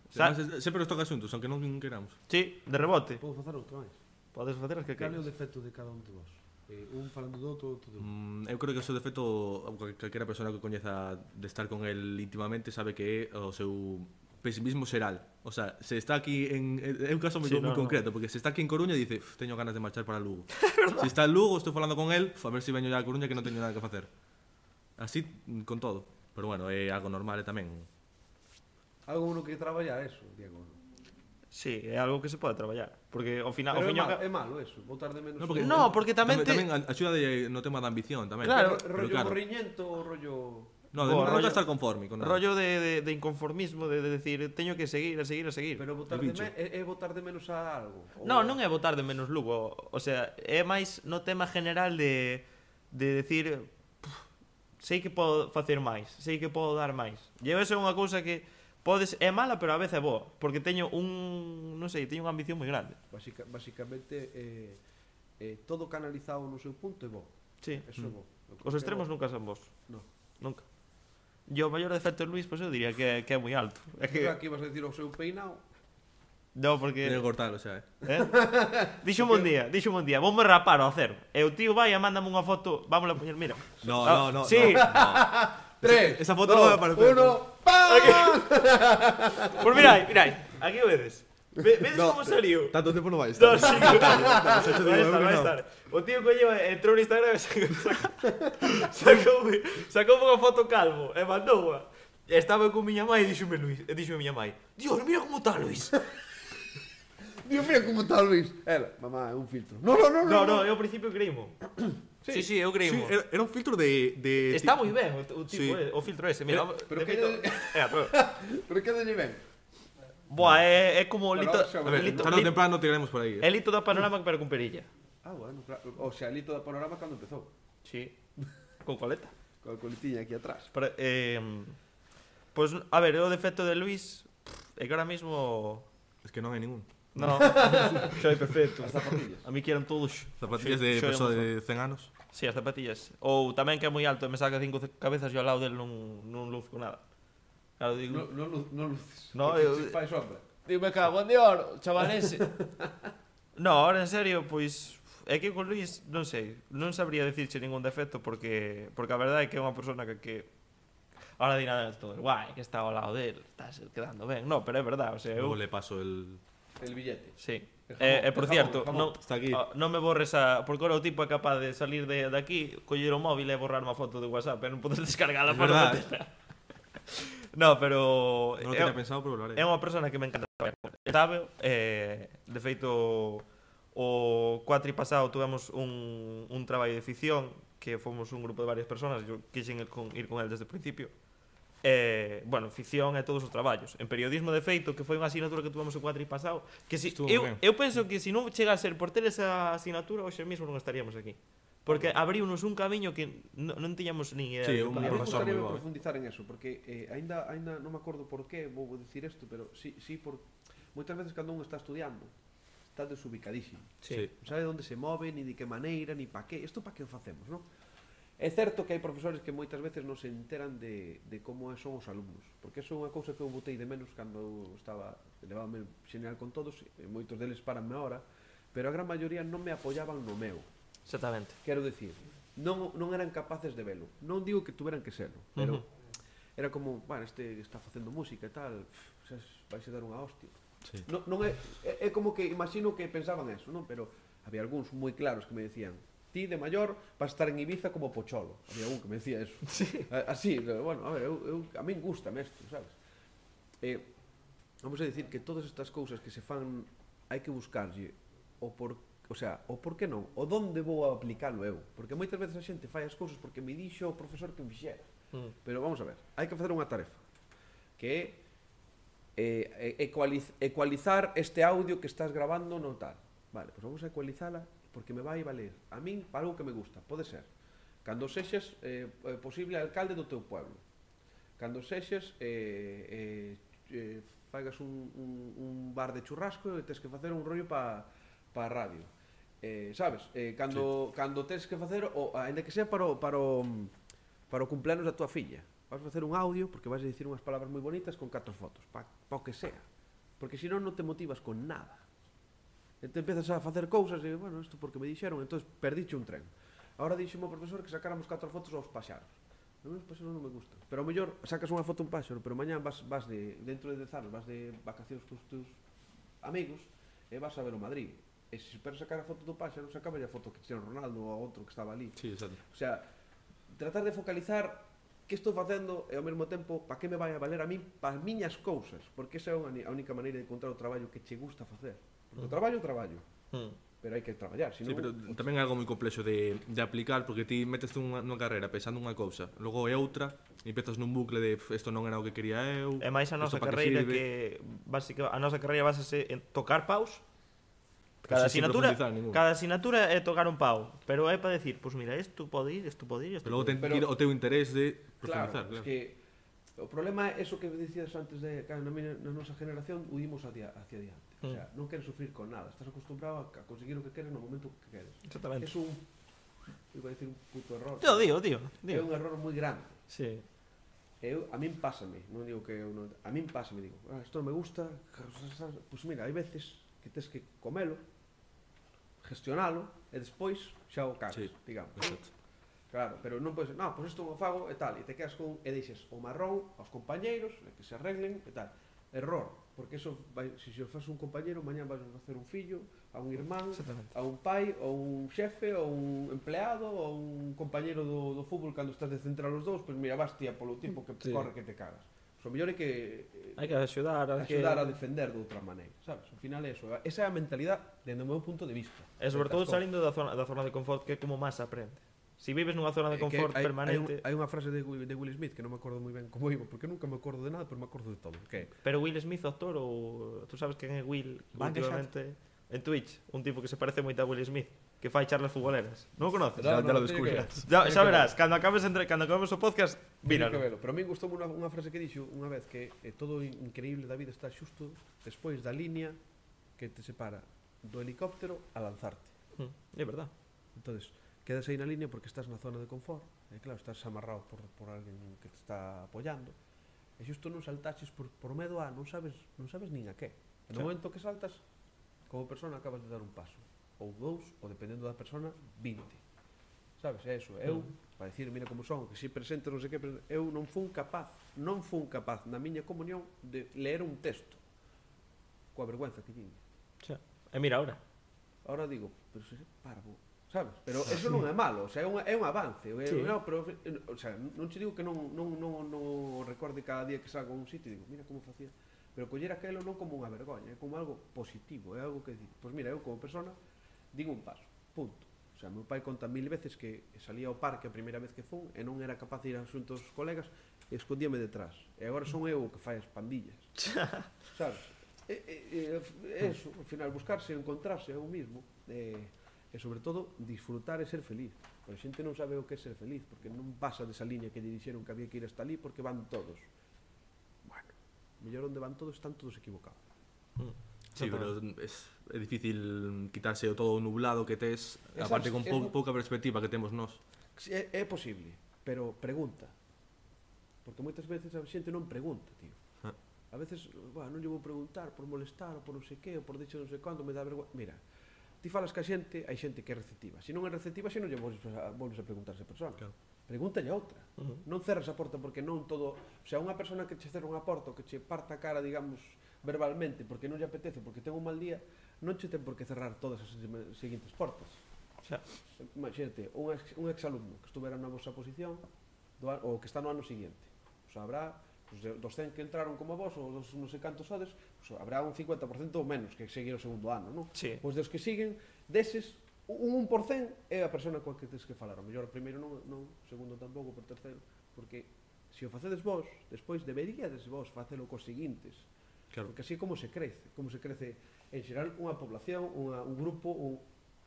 Sa- Además, sempre nos toca asuntos, aunque non queramos. Sí, de rebote. Podo facer outra máis? Podes facer as que Cal é o queiras. defecto de cada un de vos? Eh, un falando do outro, outro do outro. Mm, eu creo que o seu defecto, cal- calquera persona que coñeza de estar con el íntimamente sabe que é o seu pesimismo xeral. O sea, se está aquí en... É un caso moi, Sí, moi no, concreto, porque se está aquí en Coruña dice, "Uf, teño ganas de marchar para Lugo". Se está en Lugo, estou falando con el, "Uf, a ver se si veño ya a Coruña que non teño nada que facer". Así, mm, con todo. Pero bueno, é algo normal e tamén. Algo no que traballar eso, Diego. Sí, é algo que se pode traballar. Porque ao final... Pero ao é, fin e ao malo, ca- é malo eso, botar de menos... No, porque- No, porque tamén Tamén, te... tamén axuda de, no tema da ambición tamén. Claro. Ro- rollo claro. morriñento ou rollo... No, de Bo, nunca rollo- estar conforme con nada. rollo de, de, de inconformismo, de, de decir, teño que seguir, a seguir, a seguir. Pero botar El de bicho. me, é, é botar de menos a algo. Ou- No, non é votar de menos Lugo. O sea, é máis no tema general de, de decir, "Puf, sei que podo facer máis, sei que podo dar máis. E esa é unha cousa que podes é mala, pero a veces é boa, porque teño un, non sei, teño unha ambición moi grande. Basica, basicamente, eh, eh, todo canalizado no seu punto é bo. Sí. Eso é bo. Eu creo Os que é extremos bo. nunca son vos. No. Nunca. E o maior defecto de Luís, pois eu diría que, que é moi alto. É que, Pensaba que ibas a decir o seu peinado. no, porque... Teño que cortalo xa, eh. Eh? Díxome un día, díxome un día, voume rapar ao cero. E o tío vai e mándame unha foto, vámola a poñer, mira. No, Ah, no, no. Sí, Tres, Esa foto non vai aparecer. uno, ¡pam! pois mirai, mirai, aquí o vedes. Ve, vedes No, como saliu? Tanto tempo non vai No, estar. sí, vai estar, vai estar. O tío colleu, entrou no Instagram e sacou, sacou, sacou unha foto calvo e mandou-a. E estaba con miña mãe e díxome Luís, e díxome miña mãe, Dios, mira como está Luís. Digo, mira como está o Luís. Ela, mamá, é un filtro. No, no, no, No, no. no, eu ao principio creímo. Sí, sí, eu Sí, creímo. era, era un filtro de... de Está moi ben o, o tipo, Sí. eh, o filtro ese, mira. Pero de que feito- lle- Eh, pero- Pero que dalle ben? Buah, é, é como o Bueno, lito, xa A ver, lito, tarde ou lito, temprano tiraremos por aí. é lito da panorama pero con perilla. Ah, bueno, claro. O sea, ali toda panorama cando empezou. Sí. Con coleta. Con a coletiña aquí atrás. Pero, eh, pues, a ver, o defecto de Luis é que ahora mismo... Es que non hai ningún. No, soy perfecto. As zapatillas. A mí quieran todos. Zapatillas Soy- de soy persoa un- de cen anos. Sí, as zapatillas. Ou tamén que é moi alto e me saca cinco ce- cabezas e ao lado del non, non luzco nada. Claro, digo... No, no, lu- no luces. No, porque eu- se fai sombra. Digo, me cago en Dios, chaval ese. No, ahora en serio, pois é que con Luis, non sei, non sabría dicirche ningún defecto porque porque a verdade é que é unha persona que que ahora di nada de todo, guai, que está ao lado del, estás quedando ben. No, pero é verdade, o sea, eu Luego le paso el... El billete. sí. El E, jamón, e por el cierto, jamón, el non, jamón. Está aquí. ah, non me borres a... Porque ahora o tipo é capaz de salir de, de aquí, coller o móvil e borrar unha foto de WhatsApp e non podes descargala Es para verdad. meterla. No, pero... Non lo é- tenía pensado, pero lo haré. É unha persona que me encanta traballar con. Sabe, eh, de feito, o cuatri pasado tuvemos un, un traballo de ficción que fomos un grupo de varias personas, eu quixen ir con, ir con el desde o principio. Eh, bueno, ficción e todos os traballos. En periodismo de feito, que foi unha asignatura que tuvemos o cuatri pasado, que si, Estuvo eu, moi ben. eu penso que se non chega a ser por ter esa asignatura, hoxe mesmo non estaríamos aquí. Porque abriunos un camiño que non, non tiñamos ni idea. Sí, de que un A mí podíamos profesor gustaría moi bo, eh. profundizar en eso, porque eh, ainda, ainda non me acordo por qué vou dicir isto, pero sí, sí por moitas veces cando un está estudiando está desubicadísimo. Sí. Non sabe onde se move, ni de que maneira, ni pa qué. Isto pa que o facemos, non? É certo que hai profesores que moitas veces non se enteran de, de como son os alumnos, porque eso é unha cousa que eu botei de menos cando eu estaba, levábame xeneral con todos, e moitos deles paranme ahora, pero a gran maioría non me apoyaban no meu. Exactamente. Quero dicir, non, non eran capaces de velo. Non digo que tuveran que serlo, pero Ujú. era como, bueno, este está facendo música e tal, pff, vais a dar unha hostia. Sí. Non, non é, é, é como que imagino que pensaban eso, non? Pero había algúns moi claros que me decían, ti de maior vas a estar en Ibiza como Pocholo. Había un que me decía eso. Sí. A- Así, bueno, a ver, eu, eu, a min gustame isto, sabes? Eh, vamos a decir que todas estas cousas que se fan hai que buscarlle o por, o sea, o por que non, o donde vou a aplicalo eu, porque moitas veces a xente fai as cousas porque me dixo o profesor que o fixera. Mm. Pero vamos a ver, hai que facer unha tarefa que é eh, ecualiz, ecualizar este audio que estás grabando no tal. Vale, pois vamos a ecualizala porque me vai valer a min para algo que me gusta. Pode ser cando sexes eh, posible alcalde do teu pueblo, cando sexes eh, eh, eh, faigas un, un, un bar de churrasco e tes que facer un rollo para pa a radio. Eh, sabes? Eh, cando, sí. cando tes que facer, o, ainda que sea para o, para o, para o cumpleanos da tua filla, vas a facer un audio porque vas a dicir unhas palabras moi bonitas con catro fotos, para pa o que sea. Porque senón non te motivas con nada. E te empezas a facer cousas e, bueno, isto porque me dixeron, entonces perdiche un tren. Ahora dixemo o profesor que sacáramos catro fotos aos paxaros. A mí os paxaros non me gustan. Pero ao mellor sacas unha foto un páxaro, pero mañá vas, vas de, dentro de dez anos, vas de vacacións cos teus amigos e vas a ver o Madrid. E se esperas sacar a foto do páxaro, sacaba a foto que Cristiano Ronaldo ou a outro que estaba ali. Sí, exacto. O sea, tratar de focalizar que estou facendo e ao mesmo tempo para que me vai a valer a min para as miñas cousas, porque esa é a única maneira de encontrar o traballo que che gusta facer. Porque o traballo é o traballo, Mm. pero hai que traballar, Sí, senón... pero tamén é algo moi complexo de, de aplicar porque ti metes unha, unha carreira pensando unha cousa, logo é outra e empezas nun bucle de isto non era o que quería eu. E máis a nosa isto pa carreira sirve. que básica, a nosa carreira basase en tocar paus. Pero Cada sin asignatura, profundizar ningún. cada asignatura é tocar un pau, pero é para decir, pois pues mira, isto pode ir, isto pode ir, isto Pero logo pode ir. ten Pero- que ir o teu interés de Claro, profundizar, es claro. que o problema é eso que decías antes de que na, miña- na nosa generación huimos hacia, hacia adiante. O sea, non queres sufrir con nada, estás acostumbrado a conseguir o que queres no momento que queres. Exactamente. Es un, iba a decir un puto error. Tío, digo, tío, É digo. un error moi grande. Sí. Eu, a min pásame, non digo que eu non, a min pásame, digo, ah, isto non me gusta, pois pues mira, hai veces que tes que comelo, gestionalo e despois xa o cagas, Sí, digamos. exacto. Claro, pero non podes, no, pois isto o fago e tal, e te quedas con e deixes o marrón aos compañeiros, e que se arreglen e tal. Error, porque eso vai, se se o faz un compañeiro, mañá vas a facer un fillo, a un irmán, Exactamente. a un pai, ou un xefe, ou un empleado, ou un compañeiro do, do fútbol cando estás de central os dous, pois mira, vas tía polo tipo que Sí. corre que te cagas. Os O mellor é que eh, Hai que axudar a que... axudar a defender de outra maneira, sabes? Ao final é eso, esa é a mentalidade dende o meu punto de vista. E sobre todo salindo da zona, da zona de confort, que é como máis aprende. Si vives nunha zona de confort hai, permanente... Hai, un, hai unha frase de, de Will Smith que non me acordo moi ben como iba, porque nunca me acordo de nada, pero me acordo de todo. Que Pero Will Smith, actor, ou... Tú sabes quen é Will Van últimamente en Twitch? Un tipo que se parece moito a Will Smith, que fai charlas futboleras. Non o conoces? Ya, No, ya no, lo tiene que descubrirás. ver. Ya, Tiene xa que verás, ver. cando acabes entre, cando acabes o podcast, Tiene míralo. que velo. Pero a mí gustou unha, unha frase que dixo unha vez que eh, todo o increíble da vida está xusto despois da línea que te separa do helicóptero a lanzarte. Mm, é verdad. Entonces, quedas aí na línea porque estás na zona de confort, e claro, estás amarrado por, por alguén que te está apoyando, e xusto non saltaches por, por medo a non sabes, non sabes nin a que. E no Claro. momento que saltas, como persona acabas de dar un paso, ou dous, ou dependendo da persona, vinte. Sabes, é eso, eu, para dicir, mira como son, que si presente non sei que, eu non fun capaz, non fun capaz na miña comunión de ler un texto, coa vergüenza que tiña. Xa. E mira ahora. Ahora digo, pero se parvo, sabes? Pero eso non é malo, o sea, é un, é un avance. É, Sí. no, pero, o sea, non te digo que non, non, non, non recorde cada día que salgo a un sitio e digo, mira como facía. Pero coller aquelo non como unha vergoña, é como algo positivo, é algo que digo, pois mira, eu como persona digo un paso, punto. O sea, meu pai conta mil veces que salía ao parque a primeira vez que fun e non era capaz de ir asuntos aos colegas e escondíame detrás. E agora son eu o que fai as pandillas. Sabes? E, e, e, eso, ao final, buscarse, encontrarse a un mismo e, e sobre todo, disfrutar e ser feliz. Pero a xente non sabe o que é ser feliz porque non pasa desa liña que lle dixeron que había que ir hasta ali porque van todos. Bueno, mellor onde van todos están todos equivocados. Mm. Sí, pero es, é difícil quitarse o todo o nublado que tes, Esas- aparte con pou, es- pouca perspectiva que temos nós. Si, É, é posible, pero pregunta. Porque moitas veces a xente non pregunta, tío. Ah. A veces, bueno, non lle vou preguntar por molestar, ou por non sei que, ou por dicho non sei cando, me dá vergonha. Mira, ti falas ca xente, hai xente que é receptiva. Se non é receptiva, se non lle volves a, volves a preguntar a esa persona. Claro. Pregúntalle a outra. Uh-huh. Non cerras a porta porque non todo... O sea, unha persona que che cerra unha porta ou que che parta a cara, digamos, verbalmente, porque non lle apetece, porque ten un mal día, non che ten por que cerrar todas as seguintes portas. Xa. Imagínate, un, ex, un exalumno que estuvera na vosa posición do, an- ou que está no ano seguinte. Pues habrá, pues, de- dos cen que entraron como vos, ou dos non sei cantos sodes, pues habrá un cincuenta por cento ou menos que seguir o segundo ano, non? Sí. Pois dos que siguen, deses, un un por cento é a persona coa que tens que falar. O mellor o primeiro non, non, o segundo tampouco, por terceiro, porque se o facedes vos, despois deberíades vos facelo cos seguintes. Claro. Porque así é como se crece, como se crece en xeral unha población, unha, un grupo, un,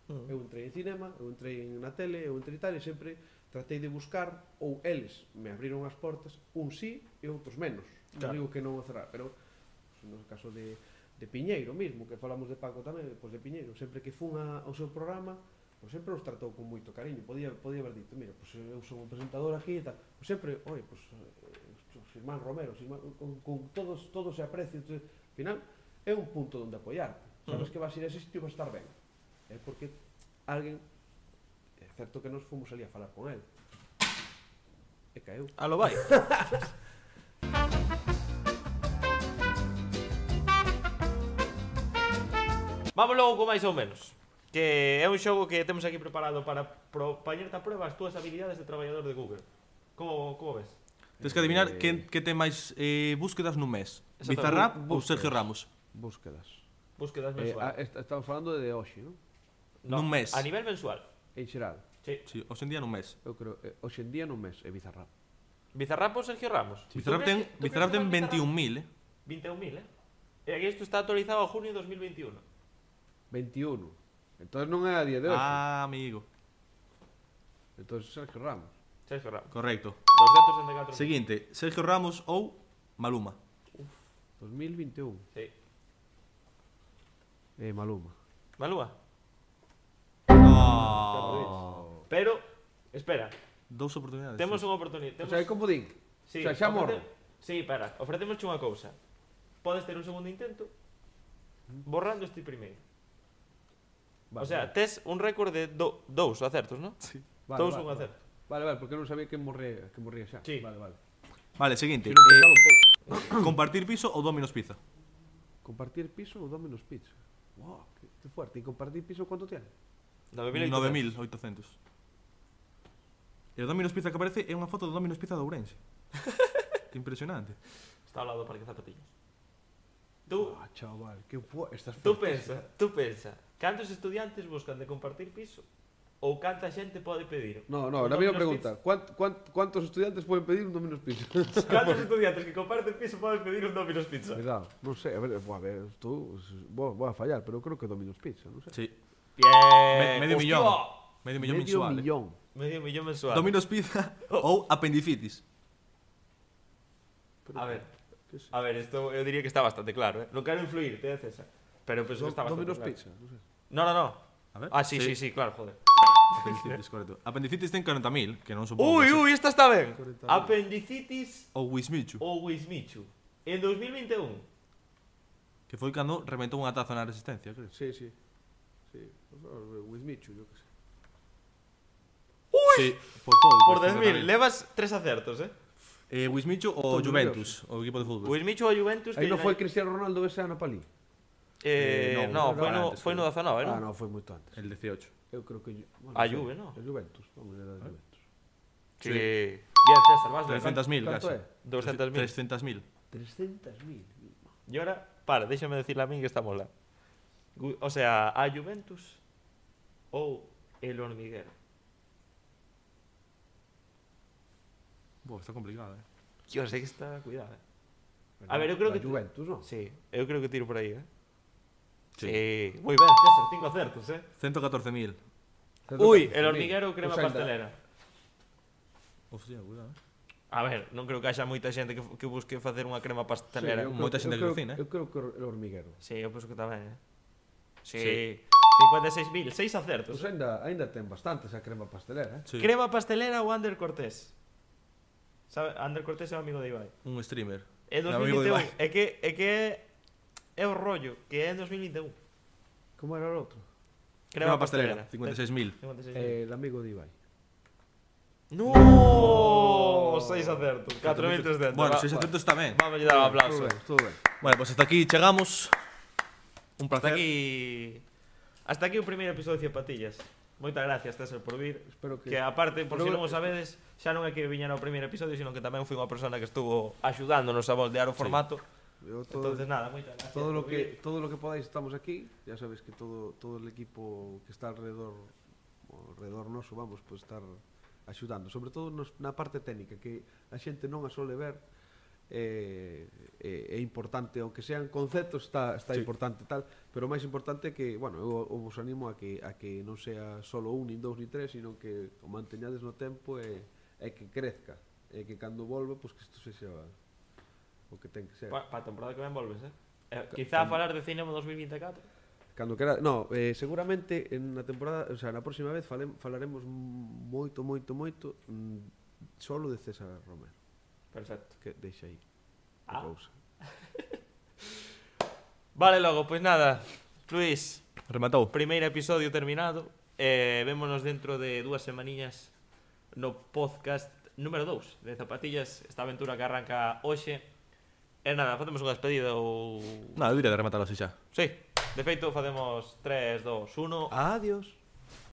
Mm. eu entrei en cinema, eu entrei na tele, eu entrei tal, e sempre tratei de buscar, ou eles me abriron as portas, un sí e outros menos. Non Claro. digo que non o cerrar, pero pues, no caso de, de Piñeiro mismo, que falamos de Paco tamén, pois de Piñeiro, sempre que fun a, ao seu programa, pois sempre os tratou con moito cariño. Podía, podía haber dito, mira, pois eu son un presentador aquí e tal. Pois sempre, oi, pois, eh, os irmán Romero, os irmán, con, con todos, todos se aprecian. Entonces, al final, é un punto onde apoiarte. Sabes Ujú. que vas a ir a ese sitio e vas a estar ben. É porque alguén, é certo que nos fomos ali a falar con él, e caeu. A lo vai. Vamos logo con máis ou menos. Que é un xogo que temos aquí preparado para pro, poñerte a prueba as túas habilidades de traballador de Google. Como, como ves? Tens que adivinar Eh, que, que ten máis eh, búsquedas nun mes. Exacto. Bizarrap ou Búsquedas. Sergio Ramos? Búsquedas. Búsquedas Eh, a, mensuales. est- estamos falando de hoxe, non? No, nun mes. A nivel mensual. En xeral, Sí. Sí, hoxe en día nun mes. eu creo, eh, hoxe en día non mes é Bizarrap. Bizarrap ou Sergio Ramos? Bizarrap ¿Tú ten, crees que- tú Bizarrap crees ten que va veintiún mil, eh? veintiún mil, eh? E aquí isto está actualizado a junio de dos mil veintiuno. veintiuno. Entonces non é a día de hoxe. Ah, amigo. Entonces Sergio Ramos. Sergio Ramos. Correcto. doscientos sesenta y cuatro mil. Seguinte, Sergio Ramos ou Maluma? dos mil veintiuno. Sí. Eh, Maluma. Malúa. Oh. Pero, espera, Dous oportunidades. temos sí. unha oportunidade. O Temos... sea, é como din. Sí, o sea, xa morro. Sí, para, ofrecemos unha cousa. Podes ter un segundo intento borrando este primeiro. Vale, O sea, vale. tes un récord de do, dous acertos, non? Sí. Vale, Dous vale, un vale. acerto. Vale, vale, porque non sabía que morría, que morría xa. Sí. Vale, vale. Vale, seguinte. Si non pensaba Eh, un pouco. compartir piso ou Domino's Pizza? Compartir piso ou Domino's Pizza. Wow, que, que fuerte. E compartir piso cuánto tiene? nove mil nove mil oitocentos. E o Domino's Pizza que aparece é unha foto do Domino's Pizza de Ourense. Que impresionante. Está ao lado do Parque Zapatillas. Tú, Ah, chaval, que pu... Estás tú fuerte. pensa, tú pensa, cantos estudiantes buscan de compartir piso ou canta xente pode pedir? No, no, un la mesma Domino's pregunta. ¿Cuánt, cuánt, ¿Cuántos estudiantes pueden pedir un Domino's Pizza? Pizza? Cantos estudiantes que comparten piso poden pedir un Domino's Pizza? Cuidado, non sei, a ver, a ver, tú, vou, vou a fallar, pero creo que Domino's Pizza, non sei. Sí. Bien. Me- medio Hostia. millón. Medio millón Medio mensual. eh. millón. Medio millón mensual. Domino's Pizza ou apendicitis. Pero, A ver, que sei. a ver, isto eu diría que está bastante claro, eh? Non quero influir, te César. Pero penso que está bastante Domino's claro. Pizza, non sei. No, no, no. A ver. Ah, sí, sí, sí, claro, joder. Apendicitis, correcto. Apendicitis ten corenta mil, que non supongo. Uy, uy, esta está ben. corenta mil. Apendicitis Ou Wismichu, ou Wismichu. En dos mil vinte e un. que foi cando reventou unha taza na resistencia, creo. Sí, sí. Sí, with Michu, yo que sé. Sí, por todo. Por dez mil, levas tres acertos, eh? Eh, Wismichu ou Todo Juventus, o equipo de fútbol. Wismichu ou Juventus. Aí que non foi Cristiano Ronaldo ese ano palí. Eh, Eh, no, no, foi no, antes, foi no dezenove, Ah, non? non, foi moito antes. El dieciocho. Eu creo que bueno, A sei, Juve, no? A Juventus, vamos a da Juventus. Sí. Bien, César, vas ben. trescientos mil Canto casi. é? doscientos mil. trescientos mil. trescientos mil. E ahora, para, déxame decirle a min que estamos lá. Gu- O sea, a Juventus ou el Hormiguero. Boa, está complicado, eh. Yo sei que está, cuidado, eh. A ver, eu creo A que- Juventus, non? Sí, eu creo que tiro por aí, eh. Sí. Sí. Moi ben, César, cinco acertos, eh. ciento catorce mil. Ui, el hormiguero crema Pues ainda- pastelera. Hostia, cuidado, eh. A ver, non creo que haxa moita xente que, que busque facer unha crema pastelera. eu Moita creo- xente eu que creo- cocina, eh. Eu creo que el hormiguero. Sí, eu penso que tamén, eh. Sí. Sí. cincuenta e seis mil, seis acertos. Pois ainda, ainda ten bastante esa crema pastelera, eh? Sí. Crema pastelera ou Ander Cortés? Sabe, Ander Cortés é o amigo de Ibai. Un streamer. En É o amigo de dos mil vinte e un, Ibai. é que é que é o rollo, que é en dos mil vinte e un. Como era o outro? Crema pastelera, cincuenta y seis mil. cincuenta e seis mil. Eh, el amigo de Ibai. No, seis acertos, catro mil trescentos. Bueno, Va- seiscientos está ben. Vamos a dar un Todo aplauso. ben, todo ben. Bueno, pues hasta aquí chegamos. Un Hasta placer. aquí Hasta aquí o primeiro episodio de Patillas. Moitas gracias, César, por vir. Espero que... Que aparte, por Pero- si non o sabedes, xa non é que viñera o primeiro episodio, sino que tamén fui unha persona que estuvo axudándonos a moldear o formato. Eu todo, Entonces nada, moitas gracias. todo lo por que vir. todo lo que podáis estamos aquí. Ya sabes que todo todo el equipo que está alrededor alrededor noso, vamos, pues estar axudando, sobre todo nos, na parte técnica que a xente non a sole ver. É, é, é importante, aunque sean conceptos, está, está Sí. importante tal, pero o máis importante é que, bueno, eu, eu vos animo a que, a que non sea solo un, nin dous, nin tres, sino que o manteñades no tempo e, e que crezca, e que cando volve, pois que isto sexa o que ten que ser. Pa, pa a temporada que ven volves, eh? eh quizá a falar de cinema dos mil vinte e catro. Cando quera, no, eh, seguramente en na temporada, o sea, na próxima vez falem, falaremos moito, moito, moito mm, solo de César Romero, Perfecto. que deixa aí Ah. a cousa. Vale, logo, pois nada. Luís, Rematou. primeiro episodio terminado. Eh, vémonos dentro de dúas semaniñas no podcast número dous de Zapatillas, esta aventura que arranca hoxe. E nada, facemos unha despedida ou... Nada, eu diría de rematar así xa. Sí, de feito facemos tres, dos, uno. Adiós.